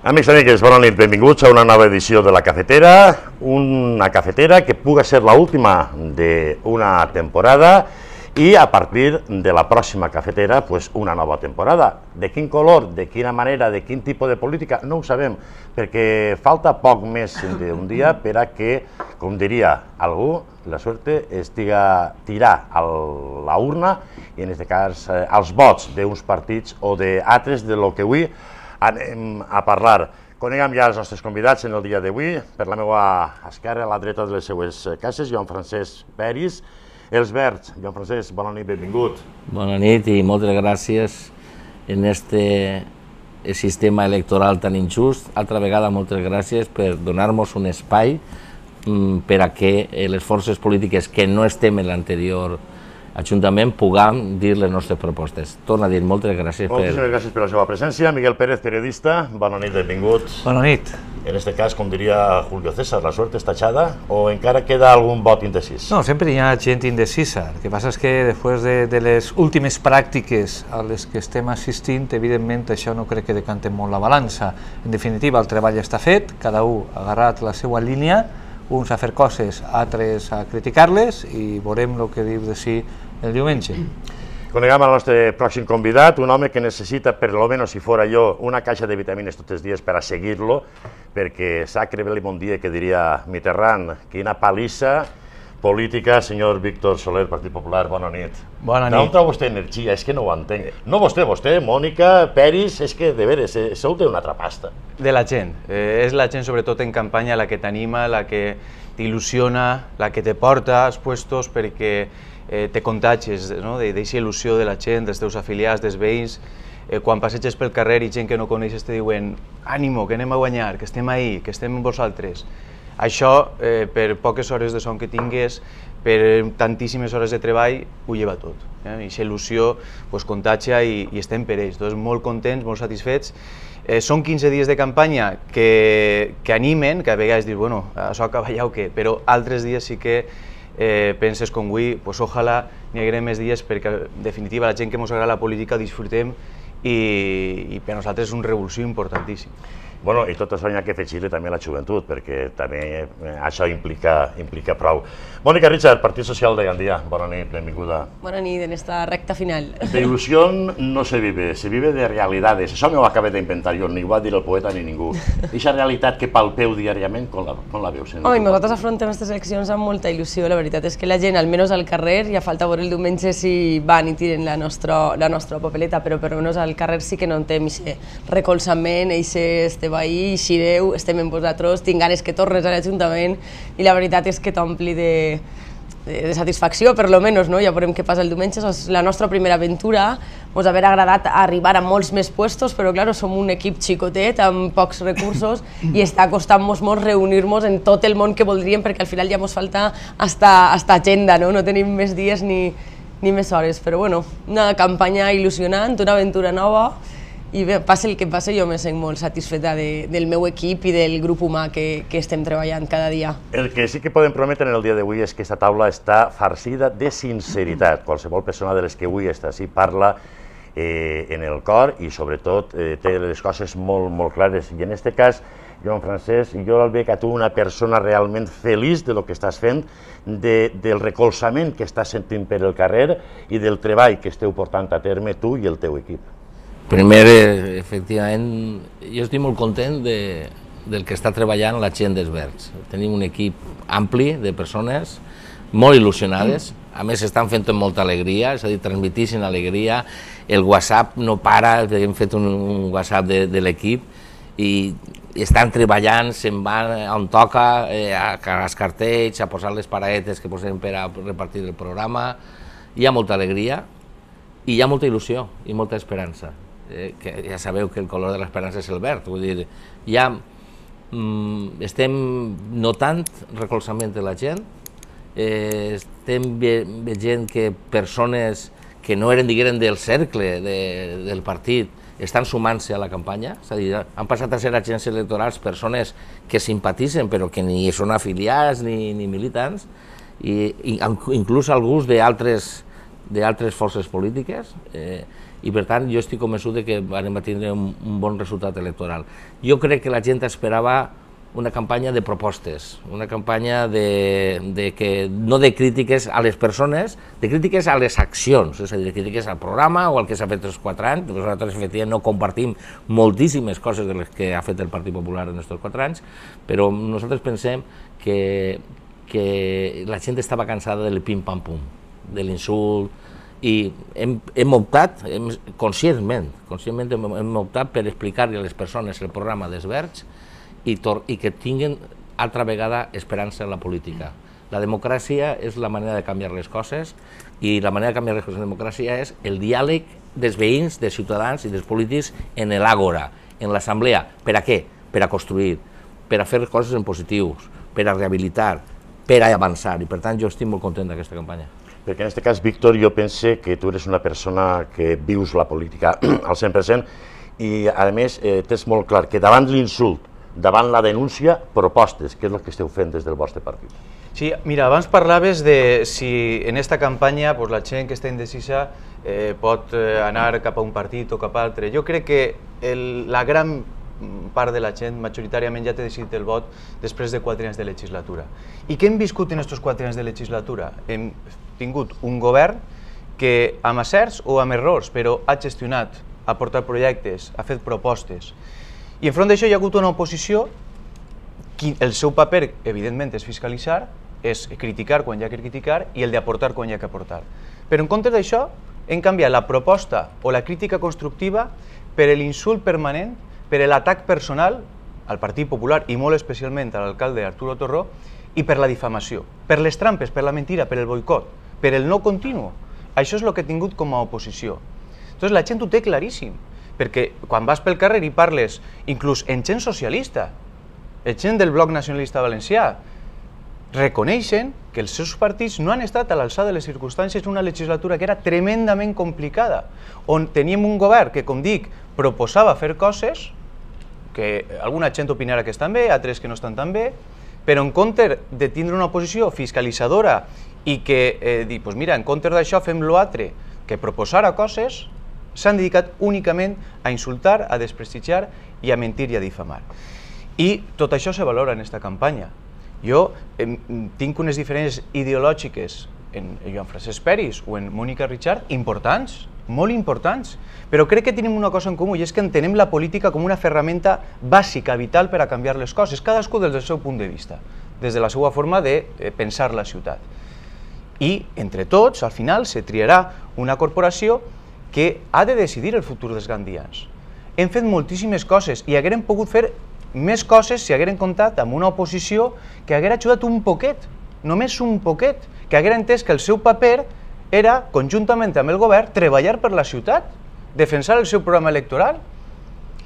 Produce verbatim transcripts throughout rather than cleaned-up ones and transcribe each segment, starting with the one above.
Amics i amigues, bona nit, benvinguts a una nova edició de La Cafetera, una cafetera que puga ser l'última d'una temporada i a partir de la pròxima cafetera, pues, una nova temporada. De quin color, de quina manera, de quin tipus de política, no ho sabem, perquè falta poc més d'un dia per a que, com diria algú, la suerte estiga tirar a la urna i en aquest cas als vots d'uns partits o d'altres de lo que avui anem a parlar. Coneguem ja els nostres convidats en el dia d'avui. Per la meva esquerra, a la dreta de les seues cases, Joan Francesc Peris. Els Verds, Joan Francesc, bona nit, benvingut. Bona nit i moltes gràcies en este sistema electoral tan injust. Altra vegada, moltes gràcies per donar-nos un espai per a que les forces polítiques que no estem en l'anterior Ajuntament puguem dir les nostres propostes. Torno a dir moltes gràcies per... Moltíssimes gràcies per la seva presència. Miguel Pérez, periodista, bona nit, benvingut. Bona nit. En este cas, com diria Julio César, la suerte està echada o encara queda algun vot indecís? No, sempre hi ha gent indecisa. El que passa és que després de, de les últimes pràctiques a les que estem assistint, evidentment això no crec que decante molt la balança. En definitiva, el treball està fet, cada un ha agarrat la seva línia, uns a fer coses, altres a criticar-les i veurem el que diu de si el diumenge. Coneguem el nostre pròxim convidat, un home que necessita, per lo menos si fora jo, una caixa de vitamines tots els dies per a seguir-lo, perquè sacre vel i bon dia, que diria Mitterrand, quina palissa política, senyor Víctor Soler, Partit Popular, bona nit. Bona nit. D'on trau vostè energia? És que no ho entenc. No vostè, vostè, Mònica, Peris, és que de veres, sou d'una altra pasta. De la gent. Eh, és la gent, sobretot en campanya, la que t'anima, la que t'il·lusiona, la que te porta als puestos perquè eh, te contagies, no? d'eixa il·lusió de la gent, dels teus afiliats, dels veïns. Eh, quan passeges pel carrer i gent que no coneixes te diuen ànimo, que anem a guanyar, que estem ahí, que estem amb vosaltres. Això, eh, per poques hores de son que tingues, per tantíssimes hores de treball, ho lleva tot. Eh? Eixa il·lusió pues, contagia i, i estem per ells. Tots molt contents, molt satisfets. Eh, són quinze dies de campanya que, que animen, que a vegades dius, bueno, això acaba ja o què, però altres dies sí que eh, penses com avui, pues, ojalà n'hi hagués més dies perquè, en definitiva, la gent que ens agrada la política disfrutem i, i per nosaltres és una revolució importantíssima. Bueno, i tot això hi ha que afegir-li també la joventut, perquè també eh, això implica, implica prou. Mònica Richard, Partit Social de Gandia, bona nit, benvinguda. Bona nit en esta recta final. De ilusión no se vive, se vive de realidades. Això no ho acabé d'inventar jo, ni ho va dir el poeta ni ningú. Eixa realitat que palpeu diàriament, com la, com la veus? Home, nosaltres afrontem aquestes eleccions amb molta il·lusió. La veritat és que la gent, almenys al carrer, ja falta veure el diumenge si van i tiren la nostra, la nostra papeleta, però per almenys al carrer sí que no tenim aquest recolzament, aquest esteu ahí, eixireu, estem amb vosaltres, tinc ganes que tornes a l'Ajuntament i la veritat és que t'ompli de, de, de satisfacció, per lo menos, no? Ja veurem què passa el diumenge, és la nostra primera aventura, ens haver agradat arribar a molts més puestos, però clar, som un equip xicotet amb pocs recursos i està costant-nos molt reunir-nos en tot el món que voldríem perquè al final ja ens falta hasta, hasta agenda, no? No tenim més dies ni, ni més hores, però bueno, una campanya il·lusionant, una aventura nova i bé, passi el que passi, jo me sent molt satisfeta de, del meu equip i del grup humà que, que estem treballant cada dia. El que sí que podem prometre en el dia d'avui és que aquesta taula està farcida de sinceritat. Qualsevol persona de les que avui està així parla eh, en el cor i sobretot eh, té les coses molt, molt clares. I en aquest cas, Joan Francesc, jo el veig a tu una persona realment feliç de lo que estàs fent, de, del recolzament que estàs sentint per el carrer i del treball que esteu portant a terme tu i el teu equip. Primer, efectivament, jo estic molt content de, del que està treballant la gent dels Verds. Tenim un equip ampli de persones molt il·lusionades, a més estan fent amb molta alegria, és a dir, transmitixen alegria, el WhatsApp no para, hem fet un, un WhatsApp de, de l'equip i estan treballant, se'n van on toca, eh, a els cartells, a posar les paradetes que posem per a repartir el programa, hi ha molta alegria i hi ha molta il·lusió i molta esperança. Eh, que ja sabeu que el color de l'esperança és el verd, vull dir, ja mm, estem notant recolzament de la gent, eh, estem ve veient que persones que no eren, diguem, del cercle de, del partit estan sumant-se a la campanya, és a dir, han passat a ser agents electorals persones que simpatitzen però que ni són afiliats ni, ni militants, i, i inclús alguns d'altres d'altres forces polítiques, eh, i per tant jo estic convençut que vam tindre un bon resultat electoral. Jo crec que la gent esperava una campanya de propostes, una campanya de, de que, no de crítiques a les persones, de crítiques a les accions, és a dir, de crítiques al programa o al que s'ha fet els quatre anys. Nosaltres, efectivament, no compartim moltíssimes coses de les que ha fet el Partit Popular en aquests quatre anys, però nosaltres pensem que, que la gent estava cansada del pim-pam-pum, de l'insult, i hem, hem optat, hem, conscientment, conscientment hem, hem optat per explicar-li a les persones el programa dels Verds i, tor i que tinguin altra vegada esperança en la política. La democràcia és la manera de canviar les coses i la manera de canviar les coses en democràcia és el diàleg dels veïns, dels ciutadans i dels polítics en l'àgora, en l'assemblea. Per a què? Per a construir, per a fer coses en positius, per a rehabilitar, per a avançar, i per tant jo estic molt content d'aquesta campanya. Perquè en aquest cas, Víctor, jo pense que tu eres una persona que vius la política al cent per cent i, a més, eh, tens molt clar que davant l'insult, davant la denúncia, propostes, que és el que esteu fent des del vostre partit. Sí, mira, abans parlaves de si en esta campanya pues, la gent que està indecisa eh, pot eh, anar cap a un partit o cap a altre. Jo crec que el, la gran part de la gent majoritàriament ja té decidit el vot després de quatre anys de legislatura. I què hem viscut en aquests quatre anys de legislatura? Hem tingut un govern que amb acerts o amb errors, però ha gestionat, ha portat projectes, ha fet propostes. I enfront d'això hi ha hagut una oposició que el seu paper, evidentment, és fiscalitzar, és criticar quan hi ha que criticar i el d'aportar quan hi ha que aportar. Però en comptes d'això hem canviat la proposta o la crítica constructiva per l'insult permanent, per l'atac personal al Partit Popular i molt especialment a l'alcalde Arturo Torró i per la difamació, per les trampes, per la mentira, per el boicot, per el no continu. Això és el que he tingut com a oposició. Entonces la gent ho té claríssim, perquè quan vas pel carrer i parles, inclús en gent socialista, en gent del Bloc Nacionalista Valencià, reconeixen que els seus partits no han estat a l'alçada de les circumstàncies d'una legislatura que era tremendament complicada, on teníem un govern que, com dic, proposava fer coses que alguna gent opinarà que estan bé, altres que no estan tan bé, però en comptes de tindre una oposició fiscalitzadora i que eh, dir, pues mira, en comptes d'això fem l'altre, que proposara coses, s'han dedicat únicament a insultar, a desprestigiar i a mentir i a difamar. I tot això se valora en aquesta campanya. Jo eh, tinc unes diferències ideològiques en Joan Francesc Peris o en Mònica Richard importants, molt importants, però crec que tenim una cosa en comú i és que entenem la política com una ferramenta bàsica, vital per a canviar les coses, cadascú des del seu punt de vista, des de la seva forma de pensar la ciutat. I entre tots, al final, se triarà una corporació que ha de decidir el futur dels gandians. Hem fet moltíssimes coses i haguérem pogut fer més coses si haguérem comptat amb una oposició que haguera ajudat un poquet, només un poquet, que haguera entès que el seu paper era, conjuntament amb el govern, treballar per la ciutat, defensar el seu programa electoral,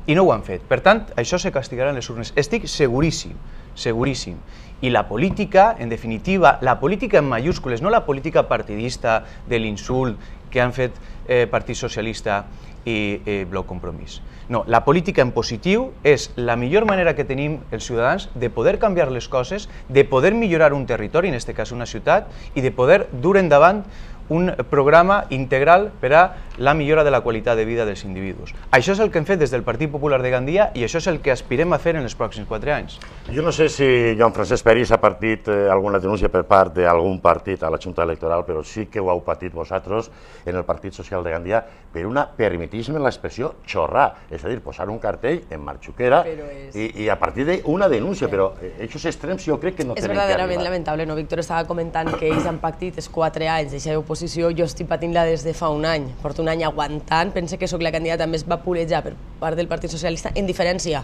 i no ho han fet. Per tant, això se castigarà en les urnes. Estic seguríssim, seguríssim. I la política, en definitiva, la política en mayúscules, no la política partidista de l'insult que han fet eh, Partit Socialista i eh, Bloc Compromís. No, la política en positiu és la millor manera que tenim els ciutadans de poder canviar les coses, de poder millorar un territori, en aquest cas una ciutat, i de poder dur endavant un programa integral per a la millora de la qualitat de vida dels individus. Això és el que hem fet des del Partit Popular de Gandia i això és el que aspirem a fer en els pròxims quatre anys. Jo no sé si Joan Francesc Peris ha patit eh, alguna denúncia per part d'algun partit a la Junta Electoral, però sí que ho heu patit vosaltres en el Partit Social de Gandia per una, permetisme l'expressió, xorrar, és a dir, posar un cartell en Marxuquera és... i, i a partir d'una denúncia, sí. Però aquests extrems jo crec que no és tenen que arribar. És verdaderament lamentable, no? Víctor estava comentant que ells han pactit els quatre anys d'aquesta oposició, jo estic patint-la des de fa un any, porto un any aguantant, pense que sóc la candidata més vapuleja per part del Partit Socialista en diferència.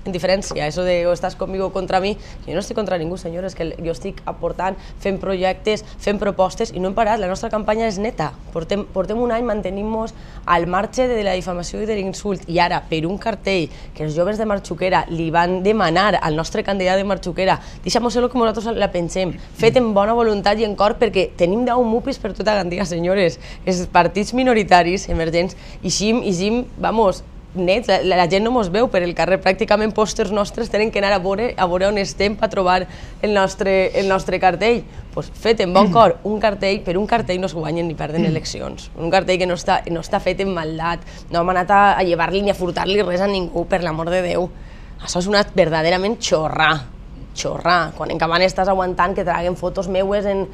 En diferència, eso de o estàs conmigo o contra mi, jo no estic contra ningú, senyores, que jo estic aportant, fent projectes, fent propostes i no hem parat, la nostra campanya és neta. Portem, portem un any mantenint-nos al marge de la difamació i de l'insult i ara, per un cartell que els joves de Marxuquera li van demanar al nostre candidat de Marxuquera, deixa'm ser-lo que nosaltres la pensem, fet en bona voluntat i en cor perquè tenim deu mupis per tota Gandia, senyores, els partits minoritaris, emergents, i xim, i xim, vamos, nets, la, la gent no mos veu per el carrer, pràcticament pòsters nostres tenen que anar a veure, a veure on estem per trobar el nostre, el nostre cartell. Pues fet en bon cor, un cartell, per un cartell no es guanyen ni perden eleccions. Un cartell que no està, no està fet en maldat, no hem anat a, a llevar-li ni a furtar-li res a ningú, per l'amor de Déu. Això és una verdaderament xorrà, xorrà. Quan en Cabana estàs aguantant que traguen fotos meues en,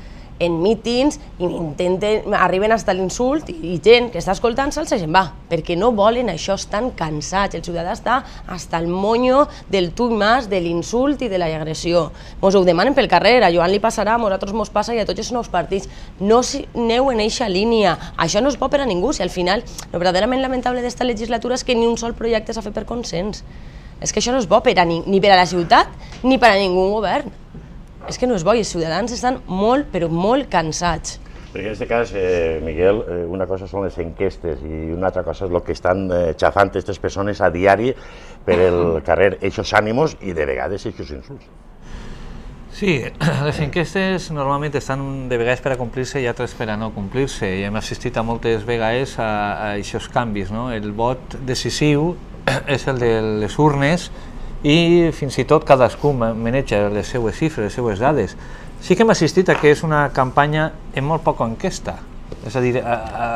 en mítings i intenten, arriben fins a l'insult i, i gent que està escoltant-se'ls se se'n va, perquè no volen això, estan cansats. El ciutadà està hasta el monyo del tu i mas, de l'insult i de l'agressió. Mos ho demanen pel carrer, a Joan li passarà, a nosaltres mos passa i a tots els nous partits. No aneu en eixa línia, això no és bo per a ningú, si al final el verdaderament lamentable d'esta legislatura és que ni un sol projecte s'ha fet per consens. És que això no és bo per a ni, ni per a la ciutat ni per a ningú govern. És que no és bo i els ciutadans estan molt, però molt cansats. Perquè en aquest cas, eh, Miguel, eh, una cosa són les enquestes i una altra cosa és el que estan eh, xafant aquestes persones a diari per el carrer, eixos ànimos i de vegades eixos insults. Sí, les enquestes normalment estan de vegades per a complir-se i altres per a no complir-se, i hem assistit a moltes vegades a, a aquests canvis, no? El vot decisiu és el de les urnes i fins i tot cadascú maneja les seues xifres, les seues dades. Sí que hem assistit a que és una campanya en molt poca enquesta, és a dir, a, a,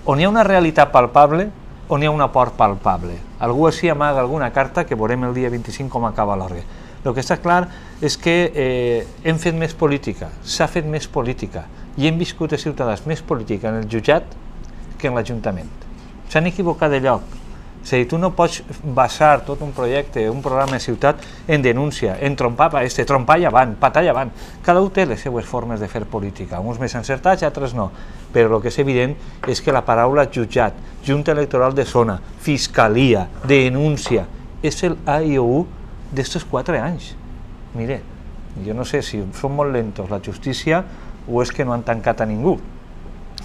on hi ha una realitat palpable, on hi ha una por palpable. Algú així amaga alguna carta que veurem el dia vint-i-cinc com acaba l'orgue. El que està clar és que eh, hem fet més política, s'ha fet més política i hem viscut els ciutadans més política en el jutjat que en l'Ajuntament. S'han equivocat de lloc. És a dir, tu no pots basar tot un projecte, un programa de ciutat en denúncia, en trompar, este, trompar i avant, patar i avant. Cada un té les seues formes de fer política, uns més encertats i altres no. Però el que és evident és que la paraula jutjat, Junta Electoral de Zona, Fiscalia, denúncia, és el A i O U d'estos quatre anys. Mire, jo no sé si són molt lentos la justícia o és que no han tancat a ningú.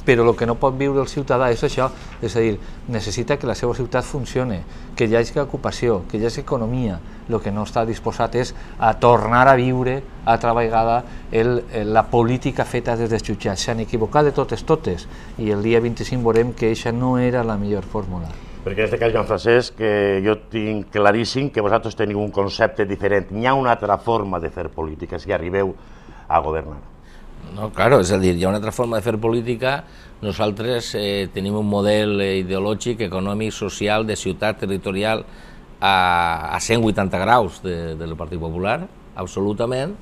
Però el que no pot viure el ciutadà és això, és a dir, necessita que la seva ciutat funcione, que hi hagi ocupació, que hi hagi economia. El que no està disposat és a tornar a viure altra vegada el, la política feta des dels jutjats. S'han equivocat de totes totes i el dia vint-i-cinc veurem que això no era la millor fórmula. Perquè en aquest cas, Joan Francesc, que jo tinc claríssim que vosaltres teniu un concepte diferent. Hi ha una altra forma de fer política si arribeu a governar. No, claro, és a dir, hi ha una altra forma de fer política. Nosaltres eh, tenim un model ideològic, econòmic, social, de ciutat territorial a, a cent vuitanta graus de, del Partit Popular, absolutament,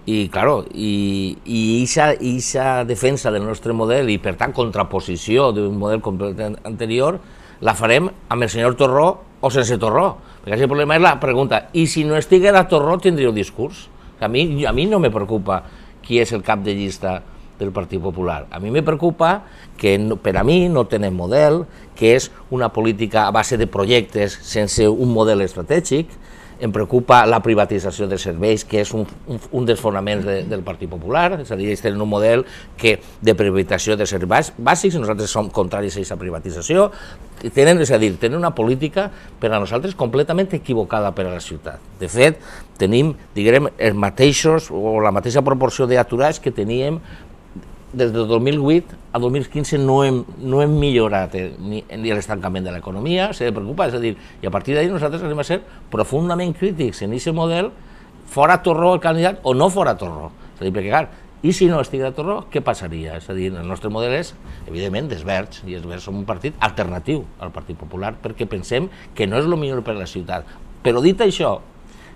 i, claro, i, i aquesta defensa del nostre model i, per tant, contraposició d'un model completament anterior, la farem amb el senyor Torró o sense Torró, perquè el problema és la pregunta, i si no estiguera Torró tindríeu discurs? A mi, a mi no me preocupa qui és el cap de llista del Partit Popular. A mi me preocupa que per a mi no tenen model, que és una política a base de projectes sense un model estratègic. Em preocupa la privatització de serveis, que és un, un, un dels fonaments de, del Partit Popular, és a dir, ells tenen un model que, de privatització de serveis bàsics, nosaltres som contraris a aquesta privatització, tenen, és a dir, tenen una política per a nosaltres completament equivocada per a la ciutat. De fet, tenim, diguem, els mateixos o la mateixa proporció d'aturats que teníem des del dos mil vuit a dos mil quinze. No hem, no hem millorat eh, ni, ni l'estancament de l'economia, s'ha de preocupar, és a dir, i a partir d'ahir nosaltres anem a ser profundament crítics en aquest model, fora Torró el candidat o no fora Torró. És a dir, perquè, clar, i si no estigués Torró, què passaria? És a dir, el nostre model és, evidentment, dels Verds, i els Verds som un partit alternatiu al Partit Popular, perquè pensem que no és el millor per a la ciutat. Però dit això,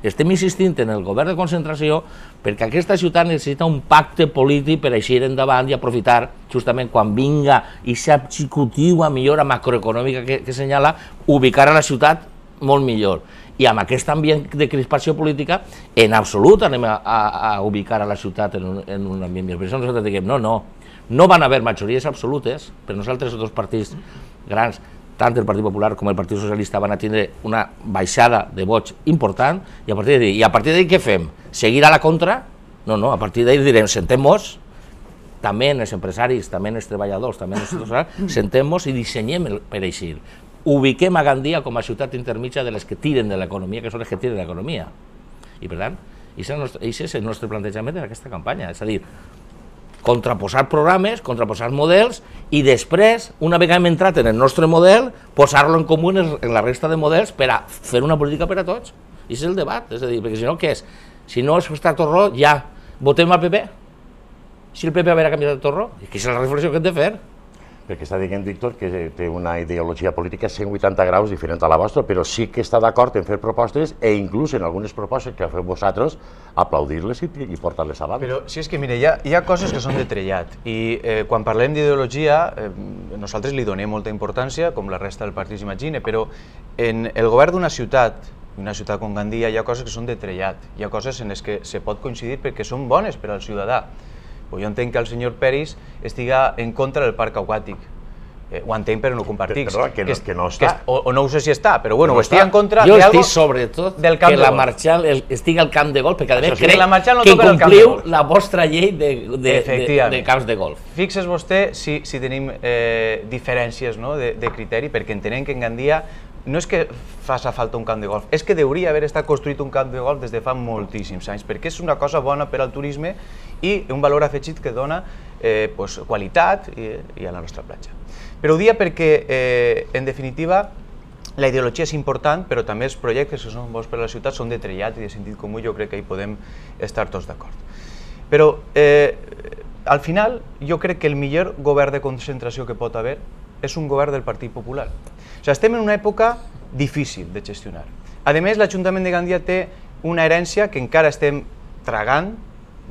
estem insistint en el govern de concentració perquè aquesta ciutat necessita un pacte polític per eixir endavant i aprofitar justament quan vinga aquesta executiva millora macroeconòmica que, que senyala, ubicar a la ciutat molt millor. I amb aquest ambient de crispació política, en absolut anem a, a, a ubicar a la ciutat en un, en un ambient millor. Per això nosaltres diguem, no, no, no van haver majories absolutes, per nosaltres els dos partits grans, tant el Partit Popular com el Partit Socialista, van a tindre una baixada de vots important, i a partir d'ahir, i a partir d'ahir què fem? Seguir a la contra? No, no, a partir d'ahir direm, sentem-nos, també els empresaris, també els treballadors, també els treballadors, sentem-nos i dissenyem per eixir. Ubiquem a Gandia com a ciutat intermitja de les que tiren de l'economia, que són les que tiren de l'economia. I per tant, aquest és el nostre plantejament en aquesta campanya, és a dir, contraposar programes, contraposar models, i després, una vegada hem entrat en el nostre model, posar-lo en comú en la resta de models per a fer una política per a tots. I és el debat, és a dir, perquè si no, què és? Si no és està Torró, ja, votem al P P. Si el P P haurà canviat de Torró, és que és la reflexió que hem de fer. Perquè està dient Víctor que té una ideologia política cent vuitanta graus diferent a la vostra, però sí que està d'acord en fer propostes e inclús en algunes propostes que feu vosaltres aplaudir-les i, i portar-les avant. Però si és que, mire, hi ha, hi ha coses que són de trellat i eh, quan parlem d'ideologia eh, nosaltres li donem molta importància, com la resta del partit s'imagina, però en el govern d'una ciutat, una ciutat com Gandia, hi ha coses que són de trellat, hi ha coses en les que se pot coincidir perquè són bones per al ciutadà. Jo entenc que el senyor Peris estiga en contra del parc aquàtic. Eh, ho entenc però no ho compartic. Perdó, que, no, que no està. Que, o, o no ho sé si està, però bueno, no ho estic en contra jo de estic algo sobretot del camp que de la golf. Marchal el, estigui al camp de golf, perquè a més Sí, crec la Marchal no que toca el camp de incompliu golf. la vostra llei de, de, de, de camps de golf. Fixes vostè si, si tenim eh, diferències, no, de, de criteri, perquè entenem que en Gandia no és que faci falta un camp de golf, és que hauria haver estat construït un camp de golf des de fa moltíssims anys, perquè és una cosa bona per al turisme i un valor afegit que dona eh, pues, qualitat i, i a la nostra platja. Però ho dia perquè, eh, en definitiva, la ideologia és important, però també els projectes que són bons per a la ciutat són de trellat i de sentit comú, jo crec que hi podem estar tots d'acord. Però, eh, al final, jo crec que el millor govern de concentració que pot haver és un govern del Partit Popular. O sigui, estem en una època difícil de gestionar. A més, l'Ajuntament de Gandia té una herència que encara estem tragant,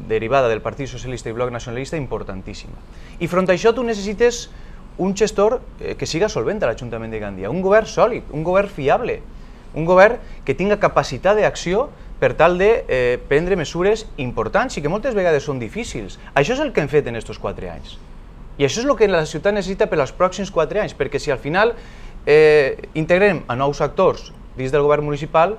derivada del Partit Socialista i Bloc Nacionalista, importantíssima. I front a això tu necessites un gestor que siga solvent a l'Ajuntament de Gandia, un govern sòlid, un govern fiable, un govern que tinga capacitat d'acció per tal de eh, prendre mesures importants i que moltes vegades són difícils. Això és el que hem fet en aquests quatre anys. I això és el que la ciutat necessita per als pròxims quatre anys, perquè si al final eh, integrem a nous actors dins del govern municipal,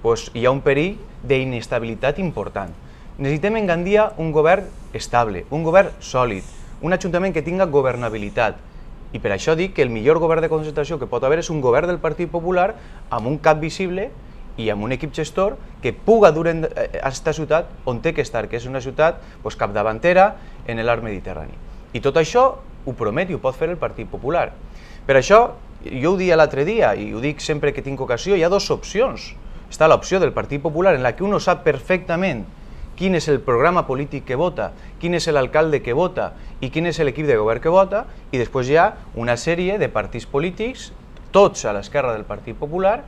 doncs hi ha un perill d'inestabilitat important. Necessitem en Gandia un govern estable, un govern sòlid, un ajuntament que tinga governabilitat. I per això dic que el millor govern de concentració que pot haver és un govern del Partit Popular amb un cap visible i amb un equip gestor que puga dur a aquesta ciutat on té que estar, que és una ciutat doncs, capdavantera en l'art mediterrani. I tot això ho promet i ho pot fer el Partit Popular. Per això, jo ho dia l'altre dia i ho dic sempre que tinc ocasió, hi ha dues opcions. Està l'opció del Partit Popular en la que uno sap perfectament quin és el programa polític que vota, quin és l'alcalde que vota i quin és l'equip de govern que vota, i després hi ha una sèrie de partits polítics, tots a l'esquerra del Partit Popular,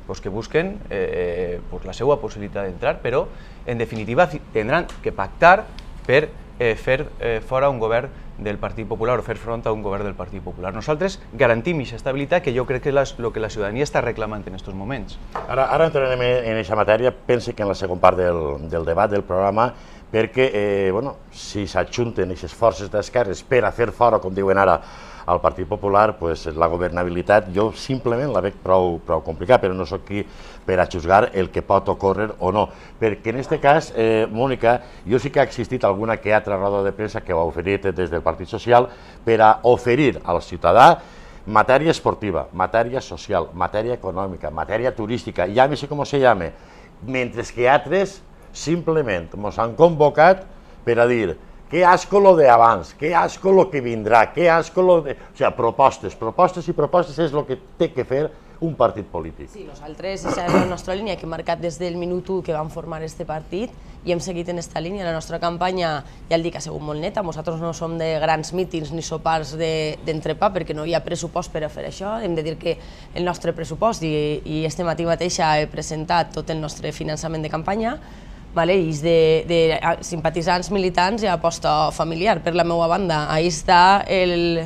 pues que busquen eh, pues la seva possibilitat d'entrar, però en definitiva tindran que pactar per eh, fer eh, fora un govern del Partit Popular o fer front a un govern del Partit Popular. Nosaltres garantim aquesta estabilitat que jo crec que és el que la ciutadania està reclamant en aquests moments. Ara, ara entrarem en aquesta matèria, pense que en la segona part del, del debat del programa, perquè eh, bueno, si s'ajunten aquestes forces d'esquerres per a fer fora, com diuen ara, al Partit Popular, pues, la governabilitat jo simplement la veig prou, prou complicada, però no soc qui per a juzgar el que pot ocórrer o no. Perquè en aquest cas, eh, Mònica, jo sí que ha existit alguna que altra roda de premsa que ho ha oferit des del Partit Social per a oferir al ciutadà matèria esportiva, matèria social, matèria econòmica, matèria turística, llámese com se llame, mentre que altres simplement ens han convocat per a dir que asco lo de abans, que asco lo que vindrà, que asco lo de... O sigui, propostes, propostes i propostes és el que té que fer un partit polític. Sí, nosaltres, aquesta és la nostra línia que hem marcat des del minut u que vam formar este partit i hem seguit en aquesta línia. La nostra campanya, ja el dic, ha sigut molt neta. Nosaltres no som de grans mítings ni sopars d'entrepà perquè no hi ha pressupost per a fer això. Hem de dir que el nostre pressupost, i, i este matí mateixa he presentat tot el nostre finançament de campanya, vale, i és de, de simpatitzants, militants i aposta familiar. Per la meva banda, ahí està el,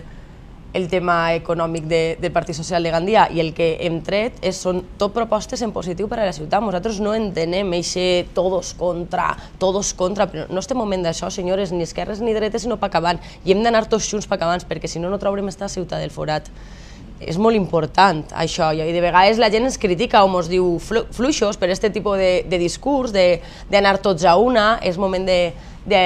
el tema econòmic de, del Partit Social de Gandia, i el que hem tret és, són tot propostes en positiu per a la ciutat. Nosaltres no entenem eixe todos contra, todos contra, però no estem moment d'això, senyores, ni esquerres ni dretes, sinó pa acabant, i hem d'anar tots junts pa acabant, perquè si no, no traurem esta ciutat del forat. És molt important això, i de vegades la gent ens critica o ens diu fluixos per aquest tipus de, de discurs, d'anar tots a una. És moment de, de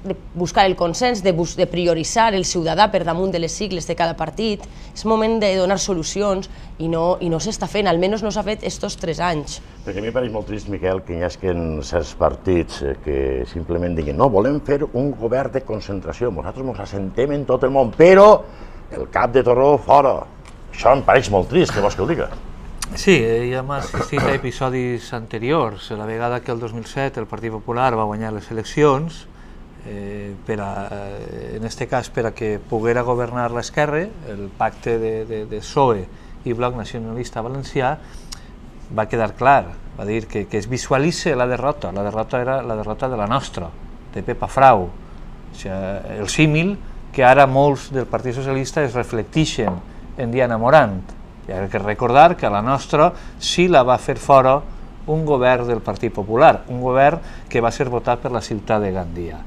de buscar el consens, de, bus, de prioritzar el ciutadà per damunt de les sigles de cada partit. És moment de donar solucions i no, i no s'està fent, almenys no s'ha fet estos tres anys. Perquè a mi em pareix molt trist, Miquel, que hi hagi certs partits que simplement diguin no, volem fer un govern de concentració, nosaltres ens assentem en tot el món, però el cap de Torró fora. Això em pareix molt trist, que vols que ho diga? Sí, ja hem assistit a episodis anteriors. La vegada que el dos mil set el Partit Popular va guanyar les eleccions, eh, per a, en aquest cas per a que poguera governar l'esquerra, el pacte de, de, de P S O E i Bloc Nacionalista Valencià, va quedar clar, va dir que, que es visualitza la derrota, la derrota era la derrota de la nostra, de Pepa Frau. O sigui, el símil que ara molts del Partit Socialista es reflecteixen en Diana Morant. Hi ha que recordar que a la nostra sí la va fer fora un govern del Partit Popular, un govern que va ser votat per la ciutat de Gandia.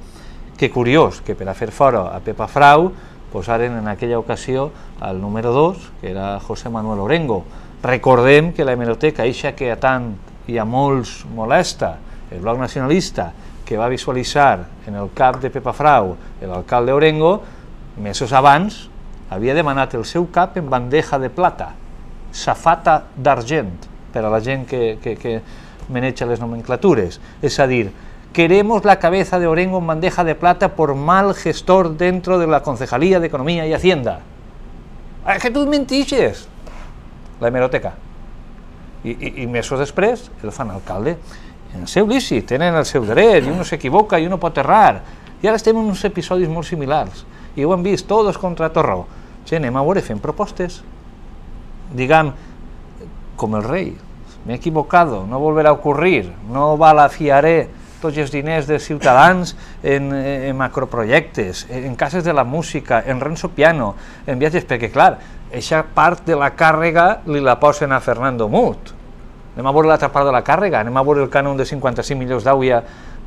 Que curiós que per a fer fora a Pepa Frau posaren en aquella ocasió al número dos, que era José Manuel Orengo. Recordem que la hemeroteca, eixa que a tant i a molts molesta, el Bloc Nacionalista, que va visualitzar en el cap de Pepa Frau l'alcalde Orengo, mesos abans havia demanat el seu cap en bandeja de plata, safata d'argent, per a la gent que, que, que maneja les nomenclatures. És a dir, queremos la cabeza de Orengo en bandeja de plata por mal gestor dentro de la Concejalía de Economía y Hacienda. Es que tu mentixes! La hemeroteca. I, i, i mesos després el fan alcalde. En el seu lícit, tenen el seu dret, i uno s'equivoca i uno pot errar. I ara estem en uns episodis molt similars. I ho hem vist, tots contra Torró. Sí, anem a veure, fem propostes. Diguem, com el rei, m'he equivocado, no volverà a ocurrir, no balafiaré tots els diners dels ciutadans en, en macroprojectes, en cases de la música, en Renzo Piano, en viatges, perquè clar, aquesta part de la càrrega li la posen a Fernando Mut. Anem a veure l'altra part de la càrrega, anem a veure el cànon de cinquanta-cinc milions d'Auia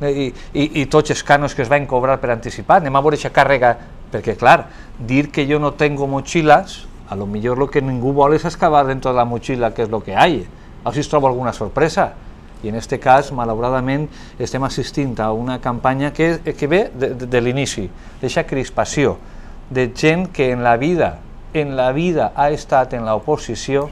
i, i, i tots els cànons que es van cobrar per anticipat, anem a veure aquesta càrrega, perquè clar, dir que jo no tengo mochilas, a lo millor lo que ningú vol és excavar dentro de la mochila que és lo que hay, a veure si es troba alguna sorpresa. I en aquest cas, malauradament, estem assistint a una campanya que, que ve de, de, de l'inici, d'aquesta crispació, de gent que en la vida, en la vida ha estat en l'oposició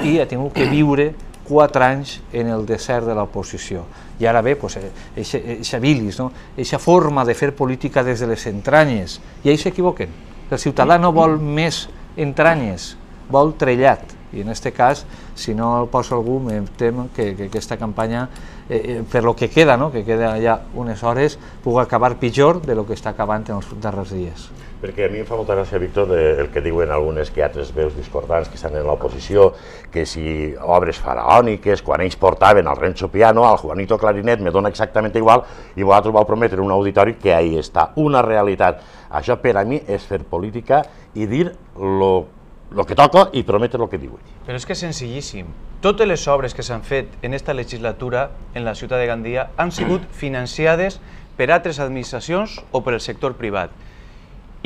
i ha tingut que viure quatre anys en el desert de l'oposició. I ara ve, aquesta bilis, aquesta forma de fer política des de les entranyes, i ells s'equivoquen. El ciutadà no vol més entranyes, vol trellat. I en aquest cas, si no el posa algú, em temo que, que aquesta campanya, eh, per lo que queda, no? que queda ja unes hores, pugui acabar pitjor de lo que està acabant en els darrers dies. Perquè a mi em fa molta gràcia, Víctor, el que diuen algunes que altres veus discordants que estan en l'oposició, que si obres faraòniques, quan ells portaven el Renzo Piano, al Juanito Clarinet, me dona exactament igual, i vosaltres vau prometre un auditori que ahí està, una realitat. Això per a mi és fer política i dir lo el que toca i prometre el que diuen. Però és que és senzillíssim. Totes les obres que s'han fet en esta legislatura en la ciutat de Gandia han sigut financiades per altres administracions o per el sector privat.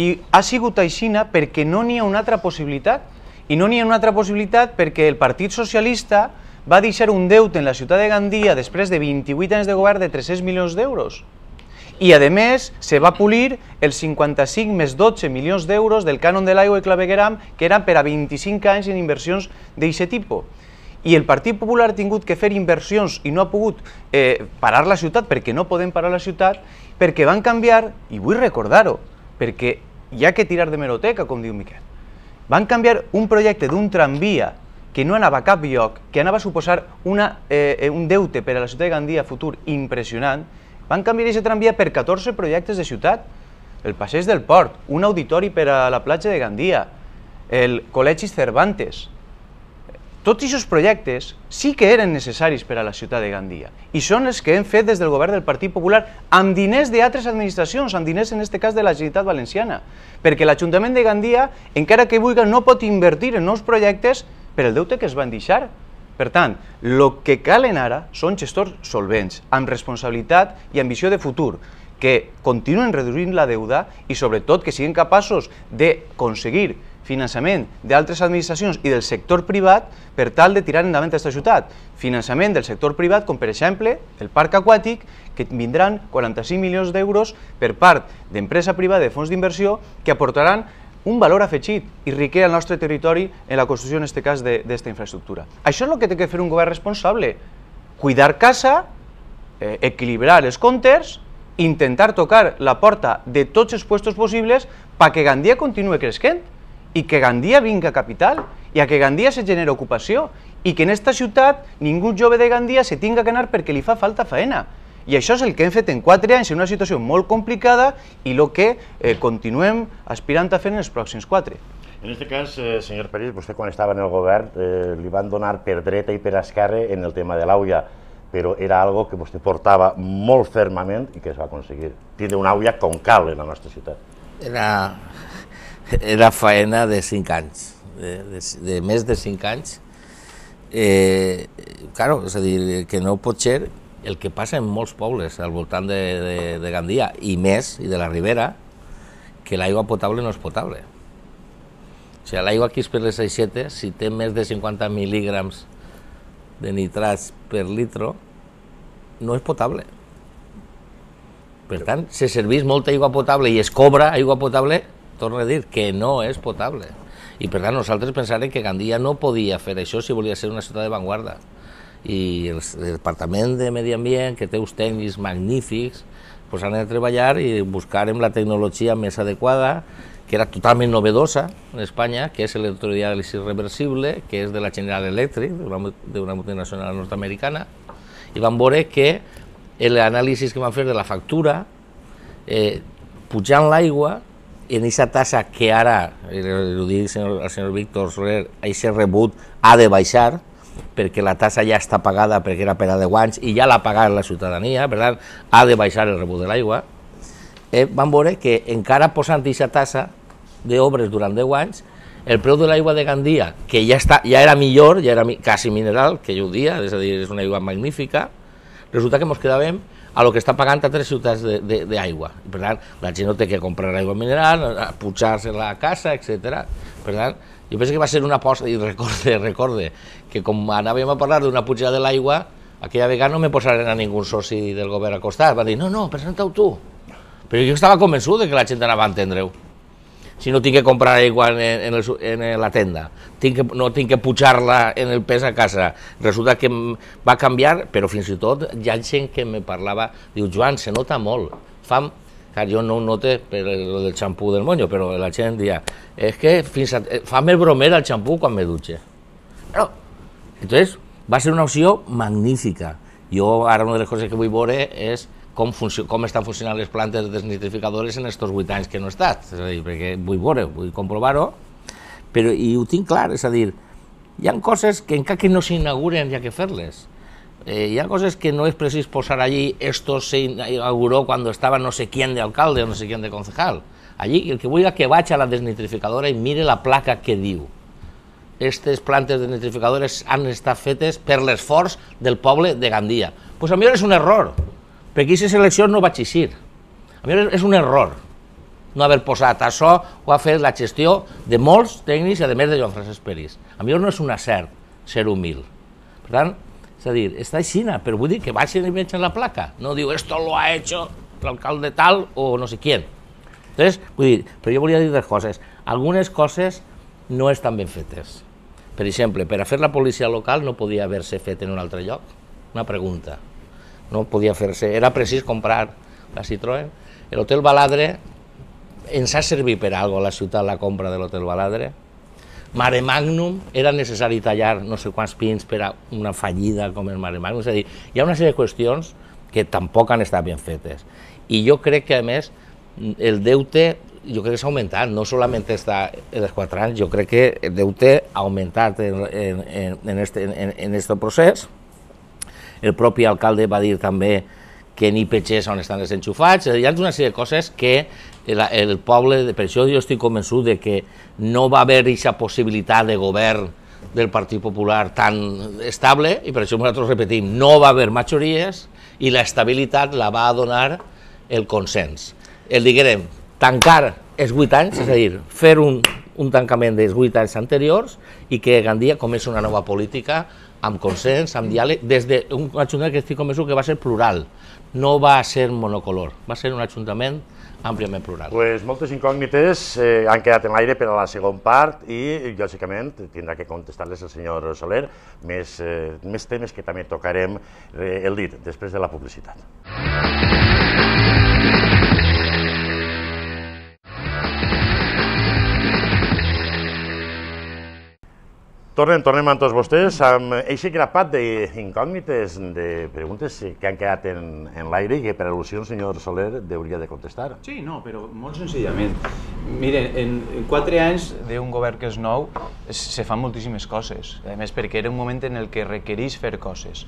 I ha sigut aixina perquè no n'hi ha una altra possibilitat. I no n'hi ha una altra possibilitat perquè el Partit Socialista va deixar un deute en la ciutat de Gandia després de vint-i-vuit anys de govern de tres-cents milions d'euros. I, a més, se va polir els cinquanta-cinc més dotze milions d'euros del cànon de l'aigua i clavegueram, que eren per a vint-i-cinc anys en inversions d'aquest tipus. I el Partit Popular ha tingut que fer inversions i no ha pogut eh, parar la ciutat, perquè no podem parar la ciutat, perquè van canviar, i vull recordar-ho, perquè hi ha que tirar de meroteca, com diu Miquel, van canviar un projecte d'un tramvia que no anava a cap lloc, que anava a suposar una, eh, un deute per a la ciutat de Gandia futur impressionant. Van canviar aquest tramvia per catorze projectes de ciutat. El passeig del port, un auditori per a la platja de Gandia, el Col·legi Cervantes. Tots aquests projectes sí que eren necessaris per a la ciutat de Gandia i són els que hem fet des del govern del Partit Popular amb diners d'altres administracions, amb diners en aquest cas de la Generalitat Valenciana, perquè l'Ajuntament de Gandia, encara que vulgui, no pot invertir en nous projectes per el deute que es van deixar. Per tant, el que calen ara són gestors solvents, amb responsabilitat i ambició de futur, que continuen reduint la deuda i sobretot que siguin capaços d'aconseguir finançament d'altres administracions i del sector privat per tal de tirar endavant aquesta ciutat. Finançament del sector privat, com per exemple el parc aquàtic, que vindran quaranta-cinc milions d'euros per part d'empresa privada de fons d'inversió que aportaran un valor afegit i riquer al nostre territori en la construcció, en aquest cas, d'aquesta infraestructura. Això és el que té que fer un govern responsable. Cuidar casa, eh, equilibrar els comptes, intentar tocar la porta de tots els puestos possibles perquè Gandia continue creixent i que Gandia vinga capital i a que Gandia se generi ocupació i que en aquesta ciutat ningú jove de Gandia se tinga que anar perquè li fa falta faena. I això és el que hem fet en quatre anys en una situació molt complicada i el que eh, continuem aspirant a fer en els pròxims quatre. En aquest cas, eh, senyor Peris, vostè quan estava en el govern eh, li van donar per dreta i per esquerra en el tema de l'auia, però era algo que vostè portava molt fermament i que es va aconseguir. Tindre una auia com cal en la nostra ciutat. Era, era faena de cinc anys, de, de, de més de cinc anys. Eh, claro, és a dir, que no pot ser el que passa en molts pobles al voltant de, de, de Gandia i més, i de la Ribera, que l'aigua potable no és potable. O sigui, l'aigua aquí per les aixetes, si té més de cinquanta mil·lígrams de nitrats per litro, no és potable. Per tant, se serveix molta aigua potable i es cobra aigua potable, torno a dir que no és potable. I per tant, nosaltres pensàvem que Gandia no podia fer això si volia ser una ciutat de vanguarda. I el Departament de Medi Ambient, que té uns tècnics magnífics, pues han de treballar i buscar la tecnologia més adequada, que era totalment novedosa en Espanya, que és l'electrodiàlisi reversible, que és de la General Electric, d'una multinacional nord-americana, i van veure que l'anàlisi que van fer de la factura, eh, pujant l'aigua, en aquesta tassa que ara, ho dic el senyor Víctor Soler, aquest rebut ha de baixar, perquè la tassa ja està pagada perquè era per a deu anys i ja l'ha pagat la ciutadania, per tant, ha de baixar el rebut de l'aigua. Eh, van veure que encara posant aquesta tassa d'obres durant deu anys, el preu de l'aigua de Gandia, que ja, està, ja era millor, ja era quasi mineral, que jo ho dia, és a dir, és una aigua magnífica, resulta que ens quedàvem a lo que està pagant a tres ciutats d'aigua. Per tant, la gent no té que comprar aigua mineral, pujar-se la casa, etcètera. Per tant, jo penso que va ser una aposta, i recorde, recorde, que com anàvem a parlar d'una pujada de l'aigua, aquella vegada no me posaren a ningú soci del govern al costat, van dir, no, no, presenta-ho tu. Però jo estava convençut que la gent anava a entendre-ho. Si no tinc que comprar aigua en, en, el, en la tenda, tinc que, no tinc que pujar-la en el pes a casa. Resulta que va canviar, però fins i tot hi ha gent que me parlava, diu, Joan, se nota molt. Fa, clar, jo no ho note per el del xampú del monyo, però la gent deia, és que fins a, fa més bromera el xampú quan me dutxe. Però, entonces, va ser una opció magnífica. Jo ara una de les coses que vull veure és Com, com estan funcionant les plantes desnitrificadores en aquests vuit anys que no he estat, és a dir, perquè vull veure, vull comprovar-ho, però i ho tinc clar, és a dir, hi ha coses que encara que no s'inauguren hi ha que fer-les, eh, hi ha coses que no és precís posar allí, esto se inauguró cuando estaba no sé quién de alcalde o no sé quién de concejal, allí el que vull és que vaig a la desnitrificadora i mire la placa que diu, aquestes plantes desnitrificadores han estat fetes per l'esforç del poble de Gandia, doncs pues a mi és un error, perquè aquesta selecció no va existir. A mi és un error no haver posat això o ha fet la gestió de molts tècnics i a més de Joan Francesc Peris. A mi no és un acert ser humil. Per tant, és a dir, està així, però vull dir que vagin i vegin la placa. No diu, esto lo ha hecho l'alcalde tal o no sé quién. Entonces, vull dir, però jo volia dir dues coses. Algunes coses no estan ben fetes. Per exemple, per a fer la policia local no podia haver-se fet en un altre lloc. Una pregunta. No podia fer-se, era precís comprar la Citroën. L'Hotel Baladre ens ha servit per a alguna cosa a la ciutat la compra de l'Hotel Baladre. Mare Magnum, era necessari tallar no sé quants pins per a una fallida com el Mare Magnum. És a dir, hi ha una sèrie de qüestions que tampoc han estat ben fetes. I jo crec que, a més, el deute jo crec que s'ha augmentat, no solament està en els quatre anys, jo crec que el deute ha augmentat en, en, en, en, este, en, en este procés. El propi alcalde va dir també que ni petxers on estan els enxufats, hi ha una sèrie de coses que el, el poble, per això jo estic convençut de que no va haver aquesta possibilitat de govern del Partit Popular tan estable, i per això nosaltres repetim, no va haver majories i l'estabilitat la va donar el consens. El diguem, tancar els vuit anys, és a dir, fer un, un tancament dels vuit anys anteriors i que Gandia comença una nova política amb consens, amb diàleg, des d'un ajuntament que estic convençut que va ser plural, no va ser monocolor, va ser un ajuntament àmpliament plural. Pues moltes incògnites eh, han quedat en l'aire per a la segona part i, lògicament, tindrà que contestar-les el senyor Soler, més, eh, més temes que també tocarem eh, el dit després de la publicitat. Tornem, tornem amb tots vostès amb aquest grapat d'incògnites, de preguntes que han quedat en, en l'aire i que per al·lusió el senyor Soler hauria de contestar. Sí, no, però molt senzillament. Miren, en, en quatre anys d'un govern que és nou se fan moltíssimes coses, a més perquè era un moment en el que requereix fer coses.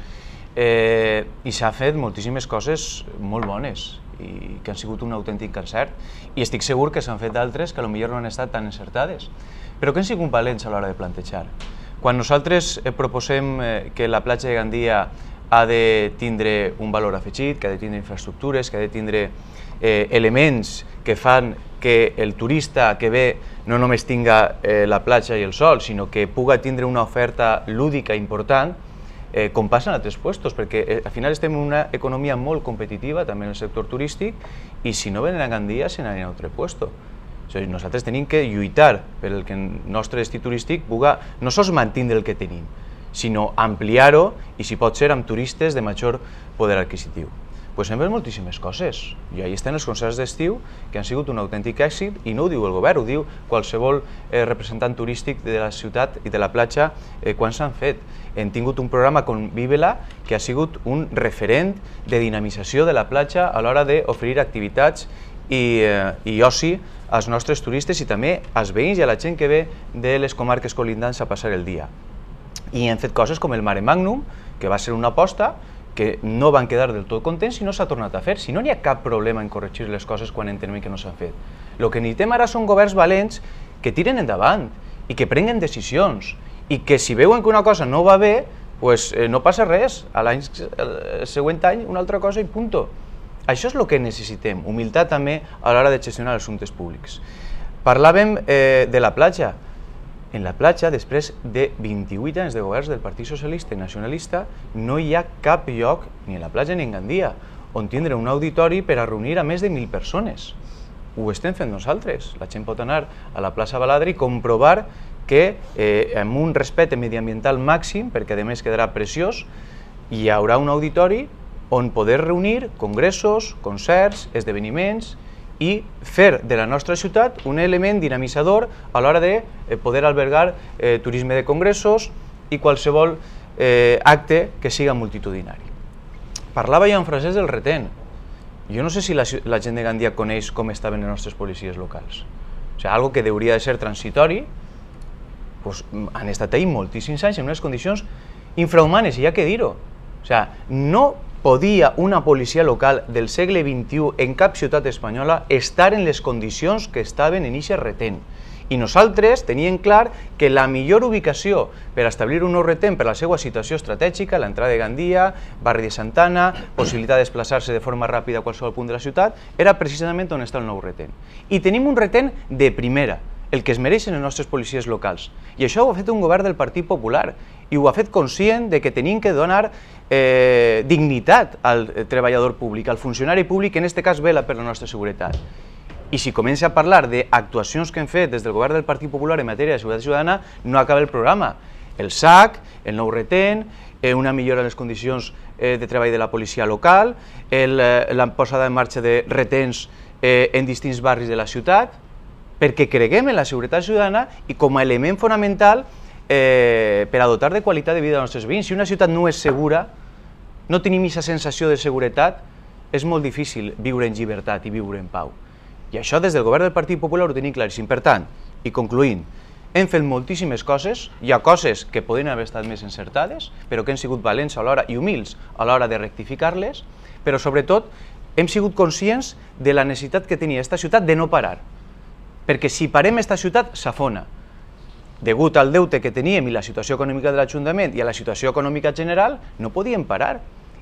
Eh, I s'ha fet moltíssimes coses molt bones i que han sigut un autèntic encert i estic segur que s'han fet d'altres que potser no han estat tan encertades, però que han sigut valents a l'hora de plantejar. Quan nosaltres proposem que la platja de Gandia ha de tindre un valor afegit, que ha de tindre infraestructures, que ha de tindre eh, elements que fan que el turista que ve no només tinga eh, la platja i el sol, sinó que puga tindre una oferta lúdica important, eh, com passa en altres puestos, perquè eh, al final estem en una economia molt competitiva, també en el sector turístic, i si no venen a Gandia, se n'anen a un altre puesto. O sigui, nosaltres tenim que lluitar per el que el nostre destí turístic puga no sols mantenir el que tenim, sinó ampliar-ho i, si pot ser, amb turistes de major poder adquisitiu. Doncs hem fet moltíssimes coses, i ahí estan els concerts d'estiu que han sigut un autèntic èxit, i no ho diu el govern, ho diu qualsevol eh, representant turístic de la ciutat i de la platja eh, quan s'han fet. Hem tingut un programa com Vívela que ha sigut un referent de dinamització de la platja a l'hora d'oferir activitats i, eh, i oci als nostres turistes i també als veïns i a la gent que ve de les comarques colindants a passar el dia. I hem fet coses com el Mare Magnum, que va ser una aposta que no van quedar del tot contents i no s'ha tornat a fer. Si no n'hi ha cap problema en corregir les coses quan entenem que no s'han fet. El que necessitem ara són governs valents que tiren endavant i que prenguen decisions i que si veuen que una cosa no va bé, pues, eh, no passa res, a l'any següent any una altra cosa i punto. Això és el que necessitem, humilitat també a l'hora de gestionar els assumptes públics. Parlàvem eh, de la platja. En la platja, després de vint-i-vuit anys de governs del Partit Socialista i Nacionalista, no hi ha cap lloc, ni en la platja ni en Gandia, on tindre un auditori per a reunir a més de mil persones. Ho estem fent nosaltres. La gent pot anar a la plaça Baladre i comprovar que eh, amb un respecte mediambiental màxim, perquè a més quedarà preciós, hi haurà un auditori on poder reunir congressos, concerts, esdeveniments i fer de la nostra ciutat un element dinamitzador a l'hora de poder albergar eh, turisme de congressos i qualsevol eh, acte que siga multitudinari. Parlava jo en frases del retén. Jo no sé si la, la gent de Gandia coneix com estaven les nostres policies locals. O sigui, algo que hauria de ser transitori, pues, han estat ahí moltíssims anys en unes condicions infrahumanes, i hi ha que dir-ho. O sigui, no podia una policia local del segle vint-i-u en cap ciutat espanyola estar en les condicions que estaven en aquest retén. I nosaltres teníem clar que la millor ubicació per establir un nou retén per la seva situació estratègica, l'entrada de Gandia, barri de Santana, possibilitat de desplaçar-se de forma ràpida a qualsevol punt de la ciutat, era precisament on està el nou retén. I tenim un retén de primera, el que es mereixen les nostres policies locals. I això ho ha fet un govern del Partit Popular i ho ha fet conscient de que tenim que donar eh, dignitat al treballador públic, al funcionari públic, que en aquest cas vela per la nostra seguretat. I si comença a parlar d'actuacions que hem fet des del govern del Partit Popular en matèria de seguretat ciutadana, no acaba el programa. El S A C, el nou retén, eh, una millora en les condicions eh, de treball de la policia local, el, eh, la posada en marxa de reténs eh, en distints barris de la ciutat, perquè creguem en la seguretat ciutadana i com a element fonamental eh, per a dotar de qualitat de vida als nostres veïns. Si una ciutat no és segura, no tenim aquesta sensació de seguretat, és molt difícil viure en llibertat i viure en pau. I això des del govern del Partit Popular ho tenim claríssim. Per tant, i concluint, hem fet moltíssimes coses, hi ha coses que poden haver estat més encertades, però que hem sigut valents a l'hora i humils a l'hora de rectificar-les, però sobretot hem sigut conscients de la necessitat que tenia aquesta ciutat de no parar, perquè si parem aquesta ciutat s'afona. Degut al deute que teníem i la situació econòmica de l'Ajuntament i a la situació econòmica general, no podíem parar.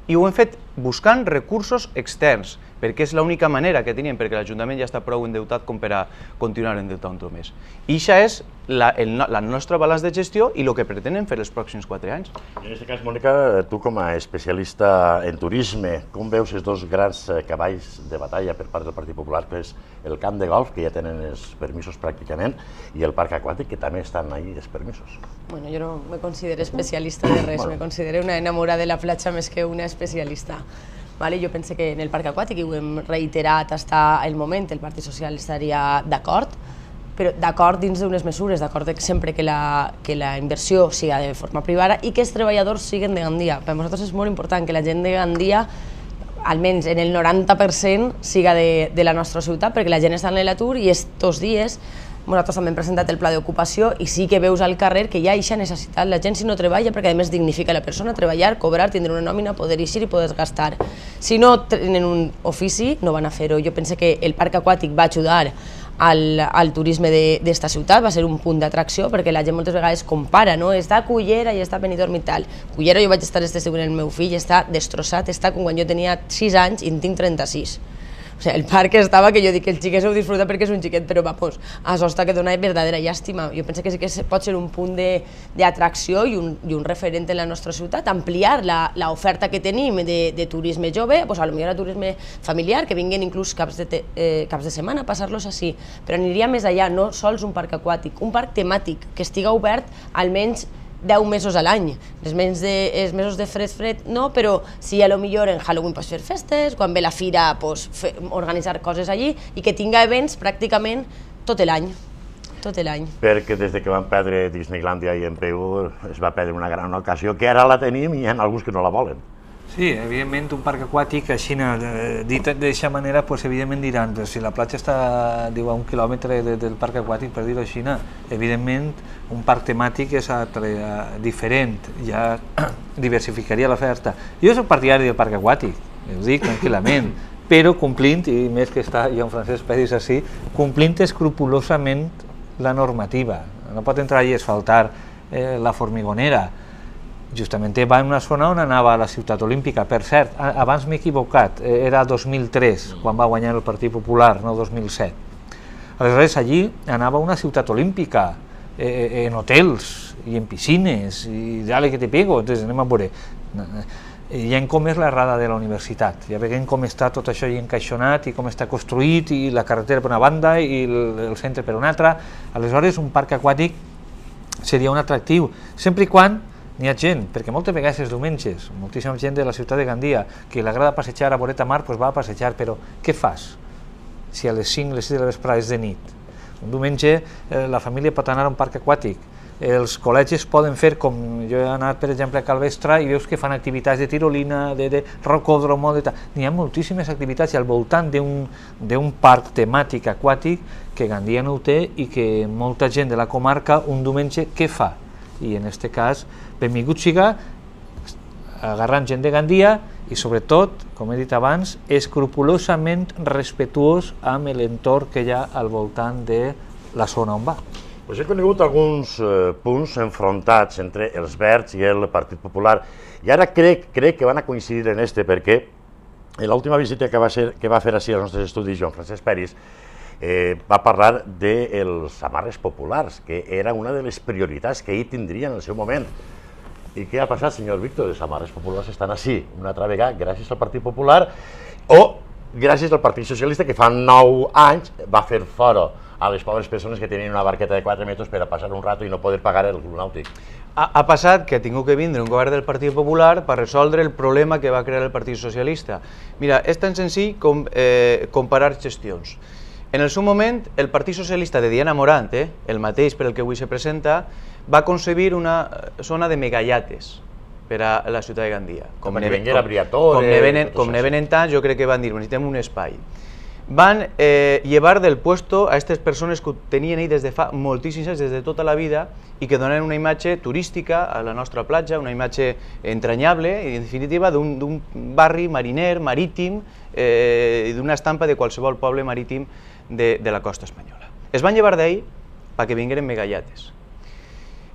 I ho hem fet buscant recursos externs perquè és l'única manera que tenien, perquè l'Ajuntament ja està prou endeutat com per a continuar endeutant-ho més. I això és la, el, la nostra balanç de gestió i el que pretenen fer els pròxims quatre anys. En aquest cas, Mònica, tu com a especialista en turisme, com veus els dos grans cavalls de batalla per part del Partit Popular, que és el camp de golf, que ja tenen els permisos pràcticament, i el parc aquàtic, que també estan ahí els permisos? Bueno, jo no me considero especialista de res, bueno. Me considero una enamorada de la platja més que una especialista. Vale, jo penso que en el parc aquàtic, i ho hem reiterat fins el moment, el Partit Social estaria d'acord, però d'acord dins d'unes mesures, d'acord sempre que la, que la inversió siga de forma privada i que els treballadors siguin de Gandia. Per nosaltres és molt important que la gent de Gandia, almenys en el noranta per cent, siga de, de la nostra ciutat, perquè la gent està en l'atur i estos dies nosaltres també hem presentat el pla d'ocupació i sí que veus al carrer que hi ha aquesta necessitat. La gent si no treballa, perquè a més dignifica la persona, treballar, cobrar, tindre una nòmina, poder eixir i poder gastar. Si no tenen un ofici, no van a fer-ho. Jo penso que el parc aquàtic va ajudar al, al turisme d'esta ciutat, va ser un punt d'atracció, perquè la gent moltes vegades compara, no? Està a Cullera i està a Benidorm i tal. Cullera jo vaig estar este estiu amb el meu fill, està destrossat, està com quan jo tenia sis anys i en tinc trenta-sis. O sigui, el parc estava, que jo dic que el xiquet ho disfruta perquè és un xiquet, però vamos, això està que dona verdadera llàstima. Jo penso que sí que pot ser un punt d'atracció i, un, i un referent en la nostra ciutat, ampliar l'oferta que tenim de, de turisme jove, pues, a lo millor a turisme familiar, que vinguin inclús caps de, te, eh, caps de setmana a passar-los així, però aniria més allà, no sols un parc aquàtic, un parc temàtic, que estiga obert almenys deu mesos a l'any. Els mesos de, els mesos de fred, fred no, però si a lo millor en Halloween pots fer festes, quan ve la fira pots fer, organitzar coses allí i que tinga events pràcticament tot l'any. Tot l'any. Perquè des de que van perdre Disneylandia i en P U es va perdre una gran ocasió, que ara la tenim i hi ha alguns que no la volen. Sí, evidentment un parc aquàtic, així, dit d'aquesta manera, pues, evidentment diran, però si la platja està diu, a un quilòmetre de, del parc aquàtic, per dir-ho així, evidentment un parc temàtic és altre, diferent, ja diversificaria l'oferta. Jo soc partidari del parc aquàtic, ho dic tranquil·lament, però complint, i més que està Joan Francesc Peris així, complint escrupulosament la normativa. No pot entrar allà a asfaltar eh, la Formigonera. Justament va en una zona on anava a la ciutat olímpica. Per cert, abans m'he equivocat, era dos mil tres, quan va guanyar el Partit Popular, no dos mil set. Aleshores, allí anava a una ciutat olímpica, eh, en hotels i en piscines, i dale que te pego, entonces anem a veure. I en com és la rada de la universitat, ja veiem com està tot això encaixonat i com està construït, i la carretera per una banda i el, el centre per una altra. Aleshores, un parc aquàtic seria un atractiu, sempre i quan n'hi ha gent, perquè moltes vegades els diumenges, moltíssima gent de la ciutat de Gandia que li agrada passejar a Boreta Mar, doncs va a passejar, però què fas si a les cinc, les sis de la vesprada és de nit? Un diumenge eh, la família pot anar a un parc aquàtic, els col·legis poden fer, com jo he anat per exemple a Calvestre i veus que fan activitats de tirolina, de, de rocòdromo, de tal. N'hi ha moltíssimes activitats al voltant d'un parc temàtic aquàtic que Gandia no ho té i que molta gent de la comarca un diumenge què fa? I en aquest cas, benvingut siga agarrant gent de Gandia i sobretot, com he dit abans, escrupulosament respetuós amb l'entorn que hi ha al voltant de la zona on va. Pues he conegut alguns eh, punts enfrontats entre els Verds i el Partit Popular i ara crec, crec que van a coincidir en este perquè en l'última visita que va, ser, que va fer així als nostres estudis Joan Francesc Peris Eh, va parlar dels amarres populars, que era una de les prioritats que ell tindria en el seu moment. I què ha passat, senyor Víctor? Els amarres populars estan així, una altra vegada, gràcies al Partit Popular o gràcies al Partit Socialista, que fa nou anys va fer fora a les pobres persones que tenien una barqueta de quatre metres per a passar un rato i no poder pagar el club nàutic. Ha, ha passat que ha tingut que vindre un govern del Partit Popular per resoldre el problema que va crear el Partit Socialista. Mira, és tan senzill com eh, comparar gestions. En el seu moment, el Partit Socialista de Diana Morant, eh, el mateix per el que avui se presenta, va concebir una zona de megallates per a la ciutat de Gandia. Com que venguera Briatore... Com ne venen tants, jo crec que van dir, necessitem un espai. Van eh, llevar del puesto a aquestes persones que ho tenien ahí des de fa moltíssims anys, des de tota la vida, i que donen una imatge turística a la nostra platja, una imatge entranyable, i en definitiva d'un barri mariner, marítim, eh, i d'una estampa de qualsevol poble marítim de, de la costa espanyola. Es van llevar d'ahí perquè vingueren megallates.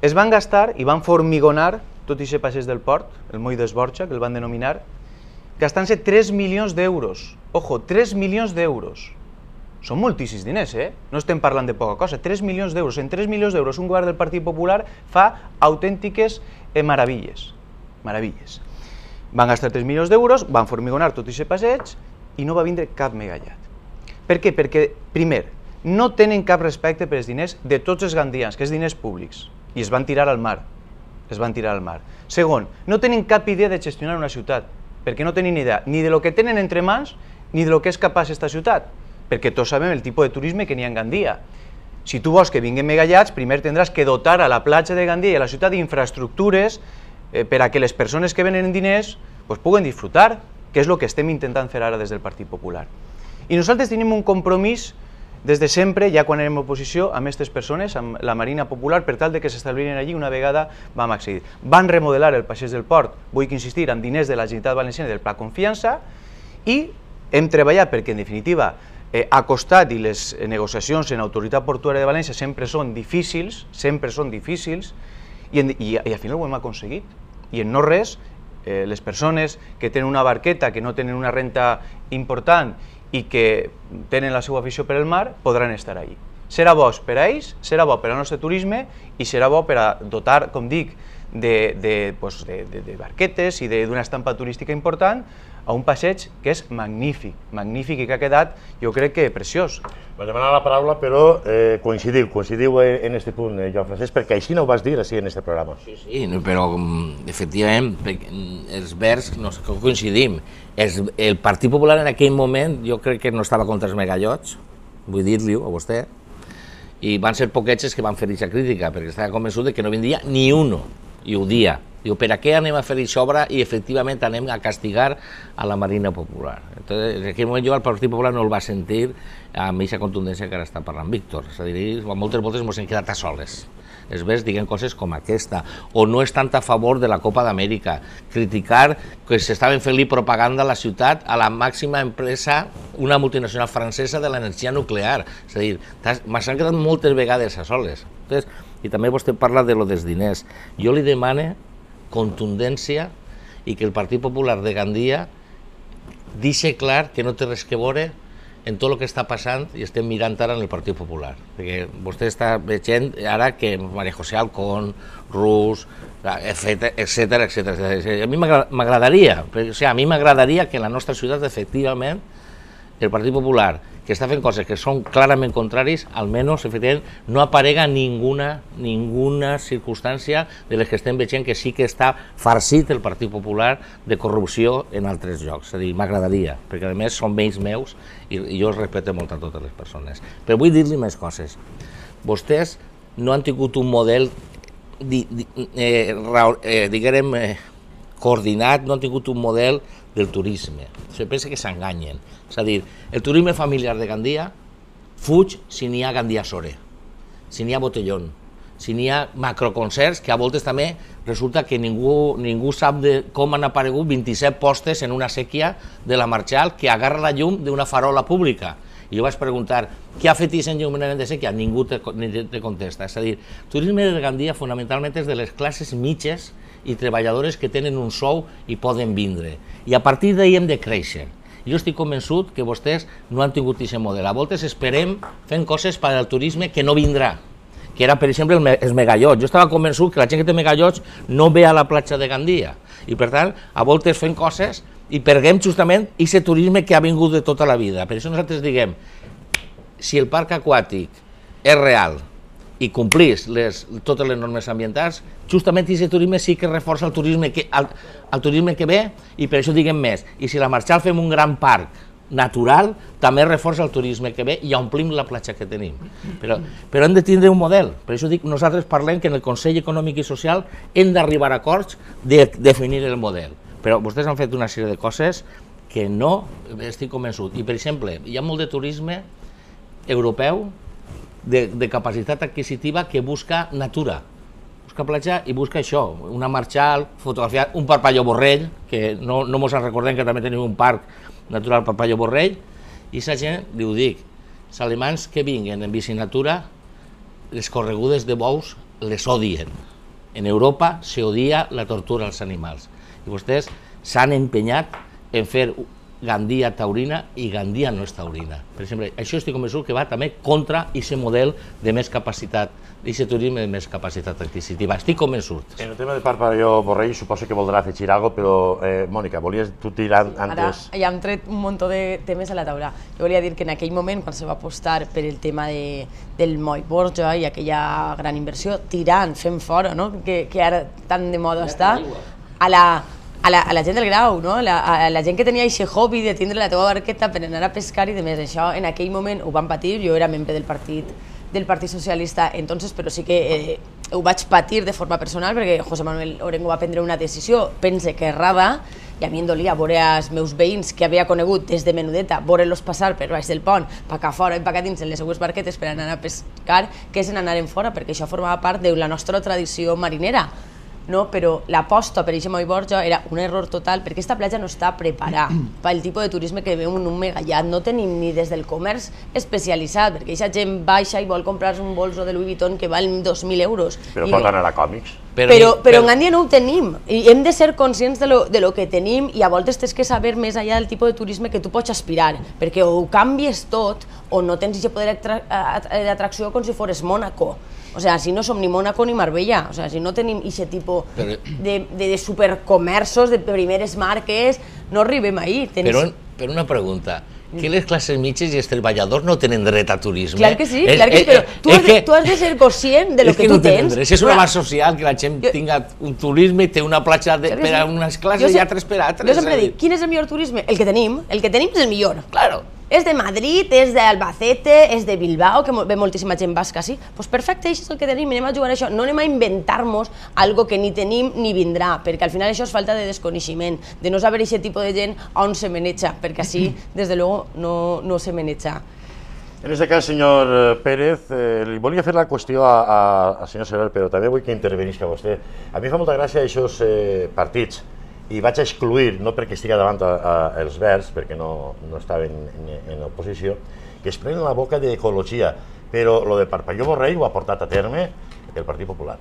Es van gastar i van formigonar tot i ser passeig del port, el moll d'Esborja, que el van denominar, gastant-se tres milions d'euros. Ojo, tres milions d'euros. Són moltíssims diners, eh? No estem parlant de poca cosa. tres milions d'euros. En tres milions d'euros un govern del Partit Popular fa autèntiques meravilles. Meravilles. Van gastar tres milions d'euros, van formigonar tot aquest passeig i no va vindre cap megallat. Per què? Perquè, primer, no tenen cap respecte per els diners de tots els gandians, que és diners públics, i es van tirar al mar. Es van tirar al mar. Segon, no tenen cap idea de gestionar una ciutat, perquè no tenen idea ni de lo que tenen entre mans ni de lo que és capaç aquesta ciutat, perquè tots sabem el tipus de turisme que n'hi ha en Gandia. Si tu vols que vinguin megallats, primer tindràs que dotar a la platja de Gandia i a la ciutat d'infraestructures eh, per a que les persones que venen diners pues, puguen disfrutar, que és el que estem intentant fer ara des del Partit Popular. I nosaltres tenim un compromís des de sempre, ja quan érem oposició, amb aquestes persones, amb la Marina Popular, per tal de que s'establiren allí una vegada vam accedir. Van remodelar el passeig del port, vull insistir, amb diners de la Generalitat Valenciana i del Pla Confiança, i hem treballat perquè, en definitiva, eh, ha costat i les negociacions en l'Autoritat Portuària de València sempre són difícils, sempre són difícils, i, en, i, i al final ho hem aconseguit. I en no res, eh, les persones que tenen una barqueta, que no tenen una renta important i que tenen la seva afició per al mar, podran estar allí. Serà bo per a ells, serà bo per al nostre turisme i serà bo per a dotar, com dic, de, de, pues de, de, de barquetes i d'una estampa turística important a un passeig que és magnífic, magnífic i que ha quedat, jo crec que preciós. Vaig demanar la paraula, però eh, coincidiu, coincidiu en aquest punt, eh, Joan Francesc, perquè així no ho vas dir així en aquest programa. Sí, sí, però efectivament els verds no coincidim. El Partit Popular en aquell moment jo crec que no estava contra els megallots, vull dir-li-ho a vostè, i van ser poquets que van fer aquesta crítica, perquè estava convençut que no vindria ni uno, i ho dia. Diu, per a què anem a fer aquesta obra i efectivament anem a castigar a la Marina Popular. Entonces, en aquell moment jo al Partit Popular no el va sentir amb aquesta contundència que ara està parlant Víctor. És a dir, moltes voltes ens hem quedat a soles. Els verds diguen coses com aquesta, o no estan a favor de la Copa d'Amèrica, criticar que s'estaven fent-li propaganda a la ciutat a la màxima empresa, una multinacional francesa de l'energia nuclear. És a dir, m'han quedat moltes vegades a soles. Entonces, i també vostè parla de lo dels diners. Jo li demane contundència i que el Partit Popular de Gandia deixi clar que no té res que veure en tot el que està passant i estem mirant ara en el Partit Popular. Perquè vostè està veient ara que María José Alcón, Rus, etcètera, etcètera. A mi m'agradaria, o sigui, a mi m'agradaria que en la nostra ciutat, efectivament, el Partit Popular, que està fent coses que són clarament contraris, almenys, efectivament, no aparega ninguna, ninguna circumstància de les que estem veient que sí que està farcit el Partit Popular de corrupció en altres llocs. És a dir, m'agradaria, perquè a més són veïns meus i, i jo els respecto molt a totes les persones. Però vull dir-li més coses. Vostès no han tingut un model, di, di, eh, eh, diguem, eh, coordinat, no han tingut un model del turisme. Se pensa que s'enganyen. És a dir, el turisme familiar de Gandia fuig si n'hi ha Gandia Sore, si n'hi ha botellón, si n'hi ha macroconcerts, que a voltes també resulta que ningú, ningú sap de com han aparegut vint-i-set postes en una sèquia de la Marchal que agarra la llum d'una farola pública. I jo vaig preguntar, què ha fet aquest enllumament de sèquia? Ningú te, te contesta. És a dir, el turisme de Gandia fonamentalment és de les classes mitges i treballadores que tenen un sou i poden vindre. I a partir d'ahir hem de créixer. Jo estic convençut que vostès no han tingut aquest model. A voltes esperem fent coses per al turisme que no vindrà, que era, per exemple, els megallots. Jo estava convençut que la gent que té megallots no ve a la platja de Gandia. I, per tant, a voltes fem coses i perguem justament aquest turisme que ha vingut de tota la vida. Per això nosaltres diguem, si el parc aquàtic és real i complís les, totes les normes ambientals, justament aquest turisme sí que reforça el turisme que, el, el turisme que ve, i per això diguem més. I si a la Marchal fem un gran parc natural, també reforça el turisme que ve i omplim la platja que tenim. Però, però hem de tindre un model. Per això dic, nosaltres parlem que en el Consell Econòmic i Social hem d'arribar a acords de definir el model. Però vostès han fet una sèrie de coses que no estic convençut. I, per exemple, hi ha molt de turisme europeu de, de capacitat adquisitiva que busca natura. Busca platja i busca això, una Marchal, fotografiar un Parpalló Borrell, que no, no mos en recordem que també tenim un parc natural Parpalló Borrell, i aquesta gent, li ho dic, els alemanys que vinguen en bicinatura, les corregudes de bous les odien. En Europa s'odia la tortura als animals. I vostès s'han empenyat en fer Gandia taurina i Gandia no és taurina. Per exemple, això estic convençut que va també contra aquest model de més capacitat, d'aquest turisme de més capacitat adquisitiva. Estic convençut. En el tema de Parpalló Borrell suposo que voldrà afegir alguna cosa, però, eh, Mònica, volies tu tirar antes... Ara ja hem tret un munt de temes a la taula. Jo volia dir que en aquell moment, quan se va apostar per el tema de, del Moll Borja i aquella gran inversió, tirant, fent fora, no? que, que ara tan de moda està, a la... A la, a la gent del Grau, no? la, a la gent que tenia aquest hobby de tindre la teva barqueta per anar a pescar i de més. Això en aquell moment ho van patir, jo era membre del partit, del Partit Socialista, entonces, però sí que eh, ho vaig patir de forma personal perquè José Manuel Orengo va prendre una decisió, pense que errada, i a mi em dolia veure els meus veïns que havia conegut des de menudeta, veure-los passar per baix del pont, pa cá fora i pa cá dins en les seues barquetes per anar a pescar, que és en anar en fora, perquè això formava part de la nostra tradició marinera. No, però l'aposta per aquest Moll Borja era un error total perquè aquesta platja no està preparada pel tipus de turisme que veu en un megallat. No tenim ni des del comerç especialitzat, perquè aquesta gent baixa i vol comprar un bolso de Louis Vuitton que val dos mil euros. Però pot anar a còmics. Però, però, però en Gandia no ho tenim i hem de ser conscients de lo, de lo que tenim i a voltes tens que saber més allà del tipus de turisme que tu pots aspirar, perquè o ho canvies tot o no tens aquest poder d'atracció com si fores Mònaco. O sea, si no som ni Mónaco ni Marbella, o sea, si no tenim aquest tipus de, de, de supercomerços, de primeres marques, no arribem ahí. Tenis... Però, però una pregunta, que les classes mitges i els treballadors no tenen dret a turisme? Clar que sí, és, clar que sí, però tu has, de, tu has de ser conscient de lo que, que tu no tens. Dret. És una base social que la gent jo, tinga un turisme i té una platja de, per a unes classes i altres per a altres. Jo sempre dic, quin és el millor turisme? El que tenim, el que tenim és el millor. Claro. És de Madrid, és d'Albacete, és de Bilbao, que ve moltíssima gent basca, sí? Doncs perfecte, això és el que tenim, anem a jugar a això. No anem a inventar-nos algo que ni tenim ni vindrà, perquè al final això és falta de desconeixement, de no saber aquest tipus de gent on se maneja, perquè així, des de luego, no, no se maneja. En aquest cas, senyor Pérez, eh, li volia fer la qüestió al senyor Sever, però també vull que intervenisca vostè. A mi fa molta gràcia aquests eh, partits, i vaig excluir, no perquè estigui davant a, a, els Verds, perquè no, no estaven en, en oposició, que es prenen la boca d'ecologia, però lo de Parpalló Borrell ho ha portat a terme el Partit Popular.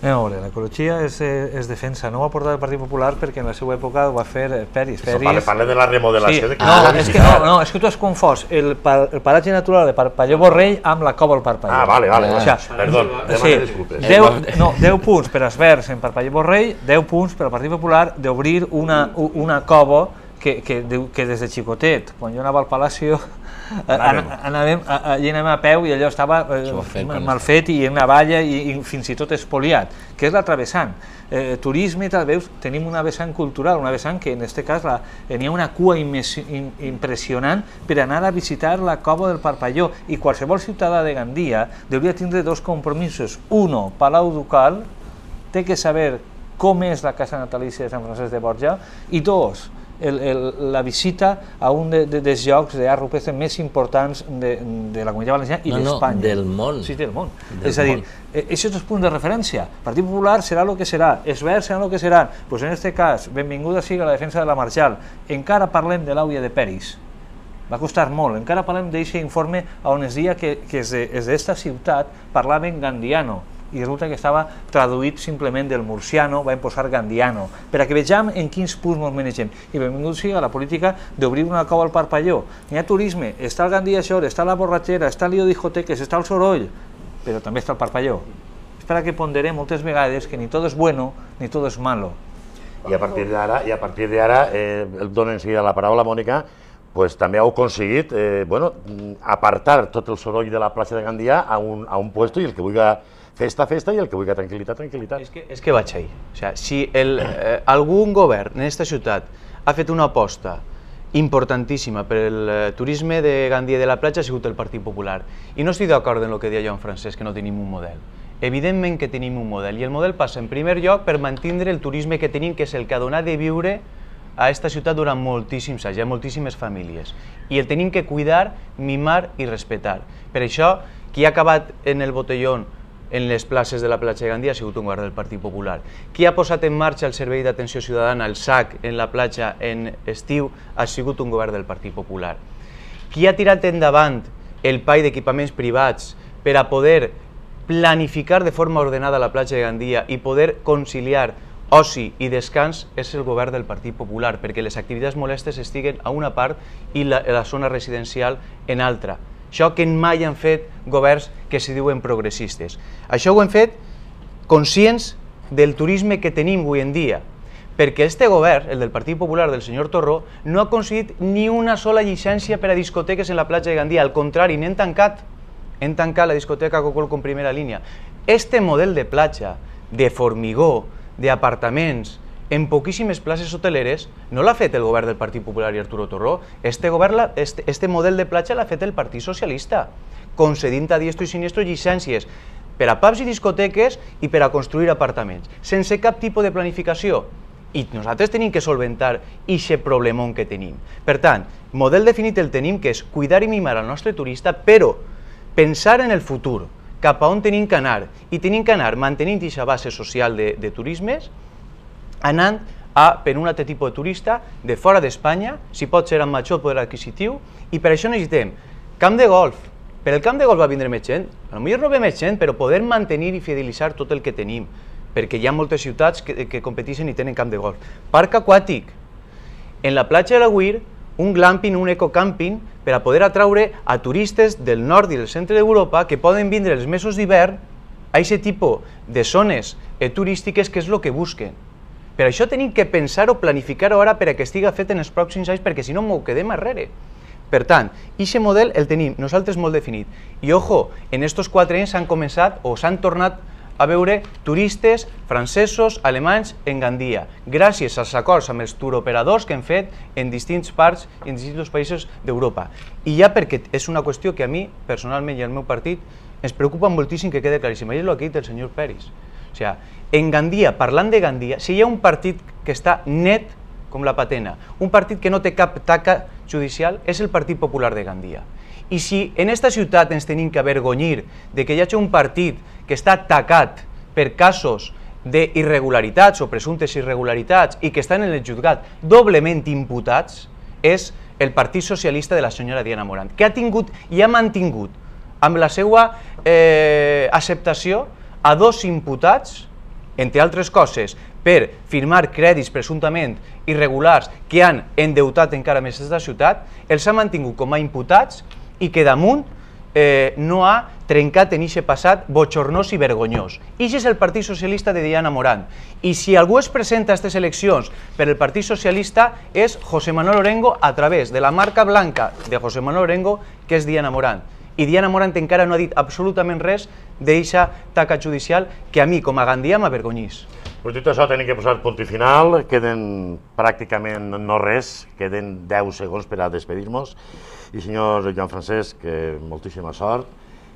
A veure, l'ecologia és, és defensa, no ho ha portat el Partit Popular perquè en la seva època ho va fer Peris. Parla, parla de la remodelació. Sí. De no, és que, no, no, és que tu has confós el, el paratge natural de Parpalló Borrell amb la cova del Parpalló. Ah, vale, vale. O sea, perdó, demano disculpes. deu, no, deu punts per als Verds en Parpalló Borrell, deu punts per al Partit Popular d'obrir una, una cova que, que, que des de xicotet, quan jo anava al Palacio, anàvem a, anàvem a peu i allò estava eh, mal fet i en una valla i, i fins i tot espoliat, que és la travessant. Eh, turisme, tal, veus, tenim una vessant cultural, una vessant que en aquest cas la, n'hi ha una cua impressionant per anar a visitar la cova del Parpalló, i qualsevol ciutadà de Gandia hauria tindre dos compromisos. Uno, Palau Ducal, té que saber com és la casa natalícia de Sant Francesc de Borja, i dos, El, el, la visita a un de, de, dels llocs d'art rupestre més importants de, de la Comunitat Valenciana i no, d'Espanya. No, del món. Sí, del món. Del és a dir, aquests són els punts de referència. El Partit Popular serà el que serà, els Verds seran el que seran. Pues en aquest cas, benvinguda sigui la defensa de la Marjal. Encara parlem de l'Àuia de Peris. Va costar molt. Encara parlem d'aquest informe on es deia que, que des d'esta ciutat parlaven gandiano, i resulta que estava traduït simplement del murciano, vam posar gandiano, per a que vegem en quins punts ens manegem. I benvingut sigui a la política d'obrir una cova al Parpalló. Hi ha turisme, està el Gandia Shore, està la borratxera, està el lío discoteques, està el soroll, però també està el Parpalló. És per a que ponderem moltes vegades que ni tot és bueno ni tot és malo. I a partir d'ara, i a partir d'ara, eh, el dono enseguida la paraula, Mònica, pues també heu aconseguit eh, bueno, apartar tot el soroll de la plaça de Gandia a un, a un puesto, i el que vulgui festa, festa, i el que vulgui tranquil·litat, tranquil·litat. És que, és que vaig ahí. O sea, si el, eh, algun govern en aquesta ciutat ha fet una aposta importantíssima per el eh, turisme de Gandia i de la platja, ha sigut el Partit Popular. I no estic d'acord en el que deia Joan Francesc, que no tenim un model. Evidentment que tenim un model, i el model passa en primer lloc per mantindre el turisme que tenim, que és el que ha donat de viure a aquesta ciutat durant moltíssims anys, hi ha moltíssimes famílies, i el tenim que cuidar, mimar i respectar. Per això, qui ha acabat en el botellón en les places de la platja de Gandia ha sigut un govern del Partit Popular. Qui ha posat en marxa el servei d'atenció ciutadana, el S A C, en la platja en estiu, ha sigut un govern del Partit Popular. Qui ha tirat endavant el P A I d'equipaments privats per a poder planificar de forma ordenada la platja de Gandia i poder conciliar oci i descans és el govern del Partit Popular, perquè les activitats molestes estiguen a una part i la, la zona residencial en altra. Això que mai han fet governs que se diuen progressistes. Això ho hem fet conscients del turisme que tenim avui en dia, perquè este govern, el del Partit Popular del senyor Torró, no ha aconseguit ni una sola llicència per a discoteques en la platja de Gandia, al contrari, n'hem tancat, hem tancat la discoteca Cocol con primera línia. Este model de platja, de formigó, d'apartaments, en poquíssimes places hoteleres, no l'ha fet el govern del Partit Popular i Arturo Torró, este, govern, este, este model de platja l'ha fet el Partit Socialista, concedint a diestro i siniestro llicències per a pubs i discoteques i per a construir apartaments, sense cap tipus de planificació. I nosaltres tenim que solventar aquest problemón que tenim. Per tant, model definit el tenim, que és cuidar i mimar al nostre turista, però pensar en el futur, cap a on tenim que anar, i tenim que anar mantenint aquesta base social de, de turismes, anant a, per un altre tipus de turista de fora d'Espanya, si pot ser amb major poder adquisitiu, i per això necessitem camp de golf. Per el camp de golf va vindre més gent, potser no ve més gent, però poder mantenir i fidelitzar tot el que tenim, perquè hi ha moltes ciutats que, que competeixen i tenen camp de golf. Parc aquàtic. En la platja de l'Agüir, un glamping, un ecocamping, per a poder atraure a turistes del nord i del centre d'Europa que poden vindre els mesos d'hivern a aquest tipus de zones eh, turístiques, que és el que busquen. Per això tenim que pensar o planificar-ho ara per a que estigui fet en els pròxims anys, perquè si no m'ho quedem arrere. Per tant, aquest model el tenim nosaltres molt definit. I ojo, en estos quatre anys s'han començat o s'han tornat a veure turistes francesos, alemanys en Gandia, gràcies als acords amb els turoperadors que hem fet en distints parts i en distints països d'Europa. I ja perquè és una qüestió que a mi, personalment i al meu partit, ens preocupa moltíssim que quede claríssim. I és el que ha dit el senyor Peris. O sigui, en Gandia, parlant de Gandia, si hi ha un partit que està net com la patena, un partit que no té cap taca judicial, és el Partit Popular de Gandia. I si en esta ciutat ens tenim que avergonyir de que hi hagi un partit que està tacat per casos d'irregularitats o presumptes irregularitats i que estan en el jutjat doblement imputats, és el Partit Socialista de la senyora Diana Morant, que ha tingut i ha mantingut amb la seva eh, acceptació a dos imputats, entre altres coses, per firmar crèdits presumptament irregulars que han endeutat encara més aquesta ciutat, els ha mantingut com a imputats i que damunt eh, no ha trencat en aquest passat bochornós i vergonyós. I aquest és el Partit Socialista de Diana Morant. I si algú es presenta a aquestes eleccions per el Partit Socialista és José Manuel Orengo a través de la marca blanca de José Manuel Orengo, que és Diana Morant. I Diana Morant encara no ha dit absolutament res d'eixa taca judicial que a mi, com a gandià, m'avergonyís. Pues dit això, tenim que posar punt i final, queden pràcticament no res, queden deu segons per a despedir-nos. I senyor Joan Francesc, moltíssima sort,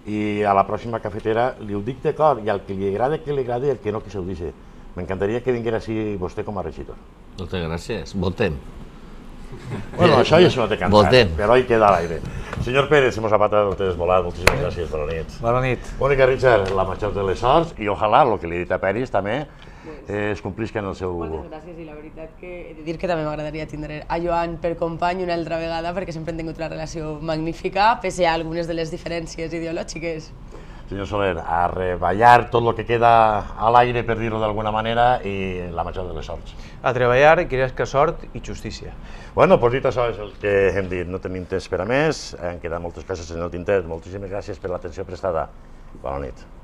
i a la pròxima cafetera li ho dic de cor, i al que li agrada que li agradi, el que no que se ho dice. M'encantaria que vinguera així vostè com a regidor. Moltes gràcies, votem. Bueno, això ja s'ho ha de cantar, Votem. però ahí queda a l'aire. Senyor Pérez, hemos apatado, te desvolat, moltíssimes gràcies, bona nit. Bona nit. Mònica Richard, la major de les sorts, i ojalà, el que li he dit a Peris també, eh, es complisca en el seu... Moltes gràcies, i la veritat que he de dir que també m'agradaria tindre a Joan per company una altra vegada, perquè sempre hem tingut una relació magnífica, pese a algunes de les diferències ideològiques. Senyor Soler, a reballar tot el que queda a l'aire, per dir-ho d'alguna manera, i la major de les sorts. A treballar, que que sort i justícia. Bueno, doncs dit això és el que hem dit, no tenim temps per a més, han quedat moltes coses en el tinter, moltíssimes gràcies per l'atenció prestada. Bona nit.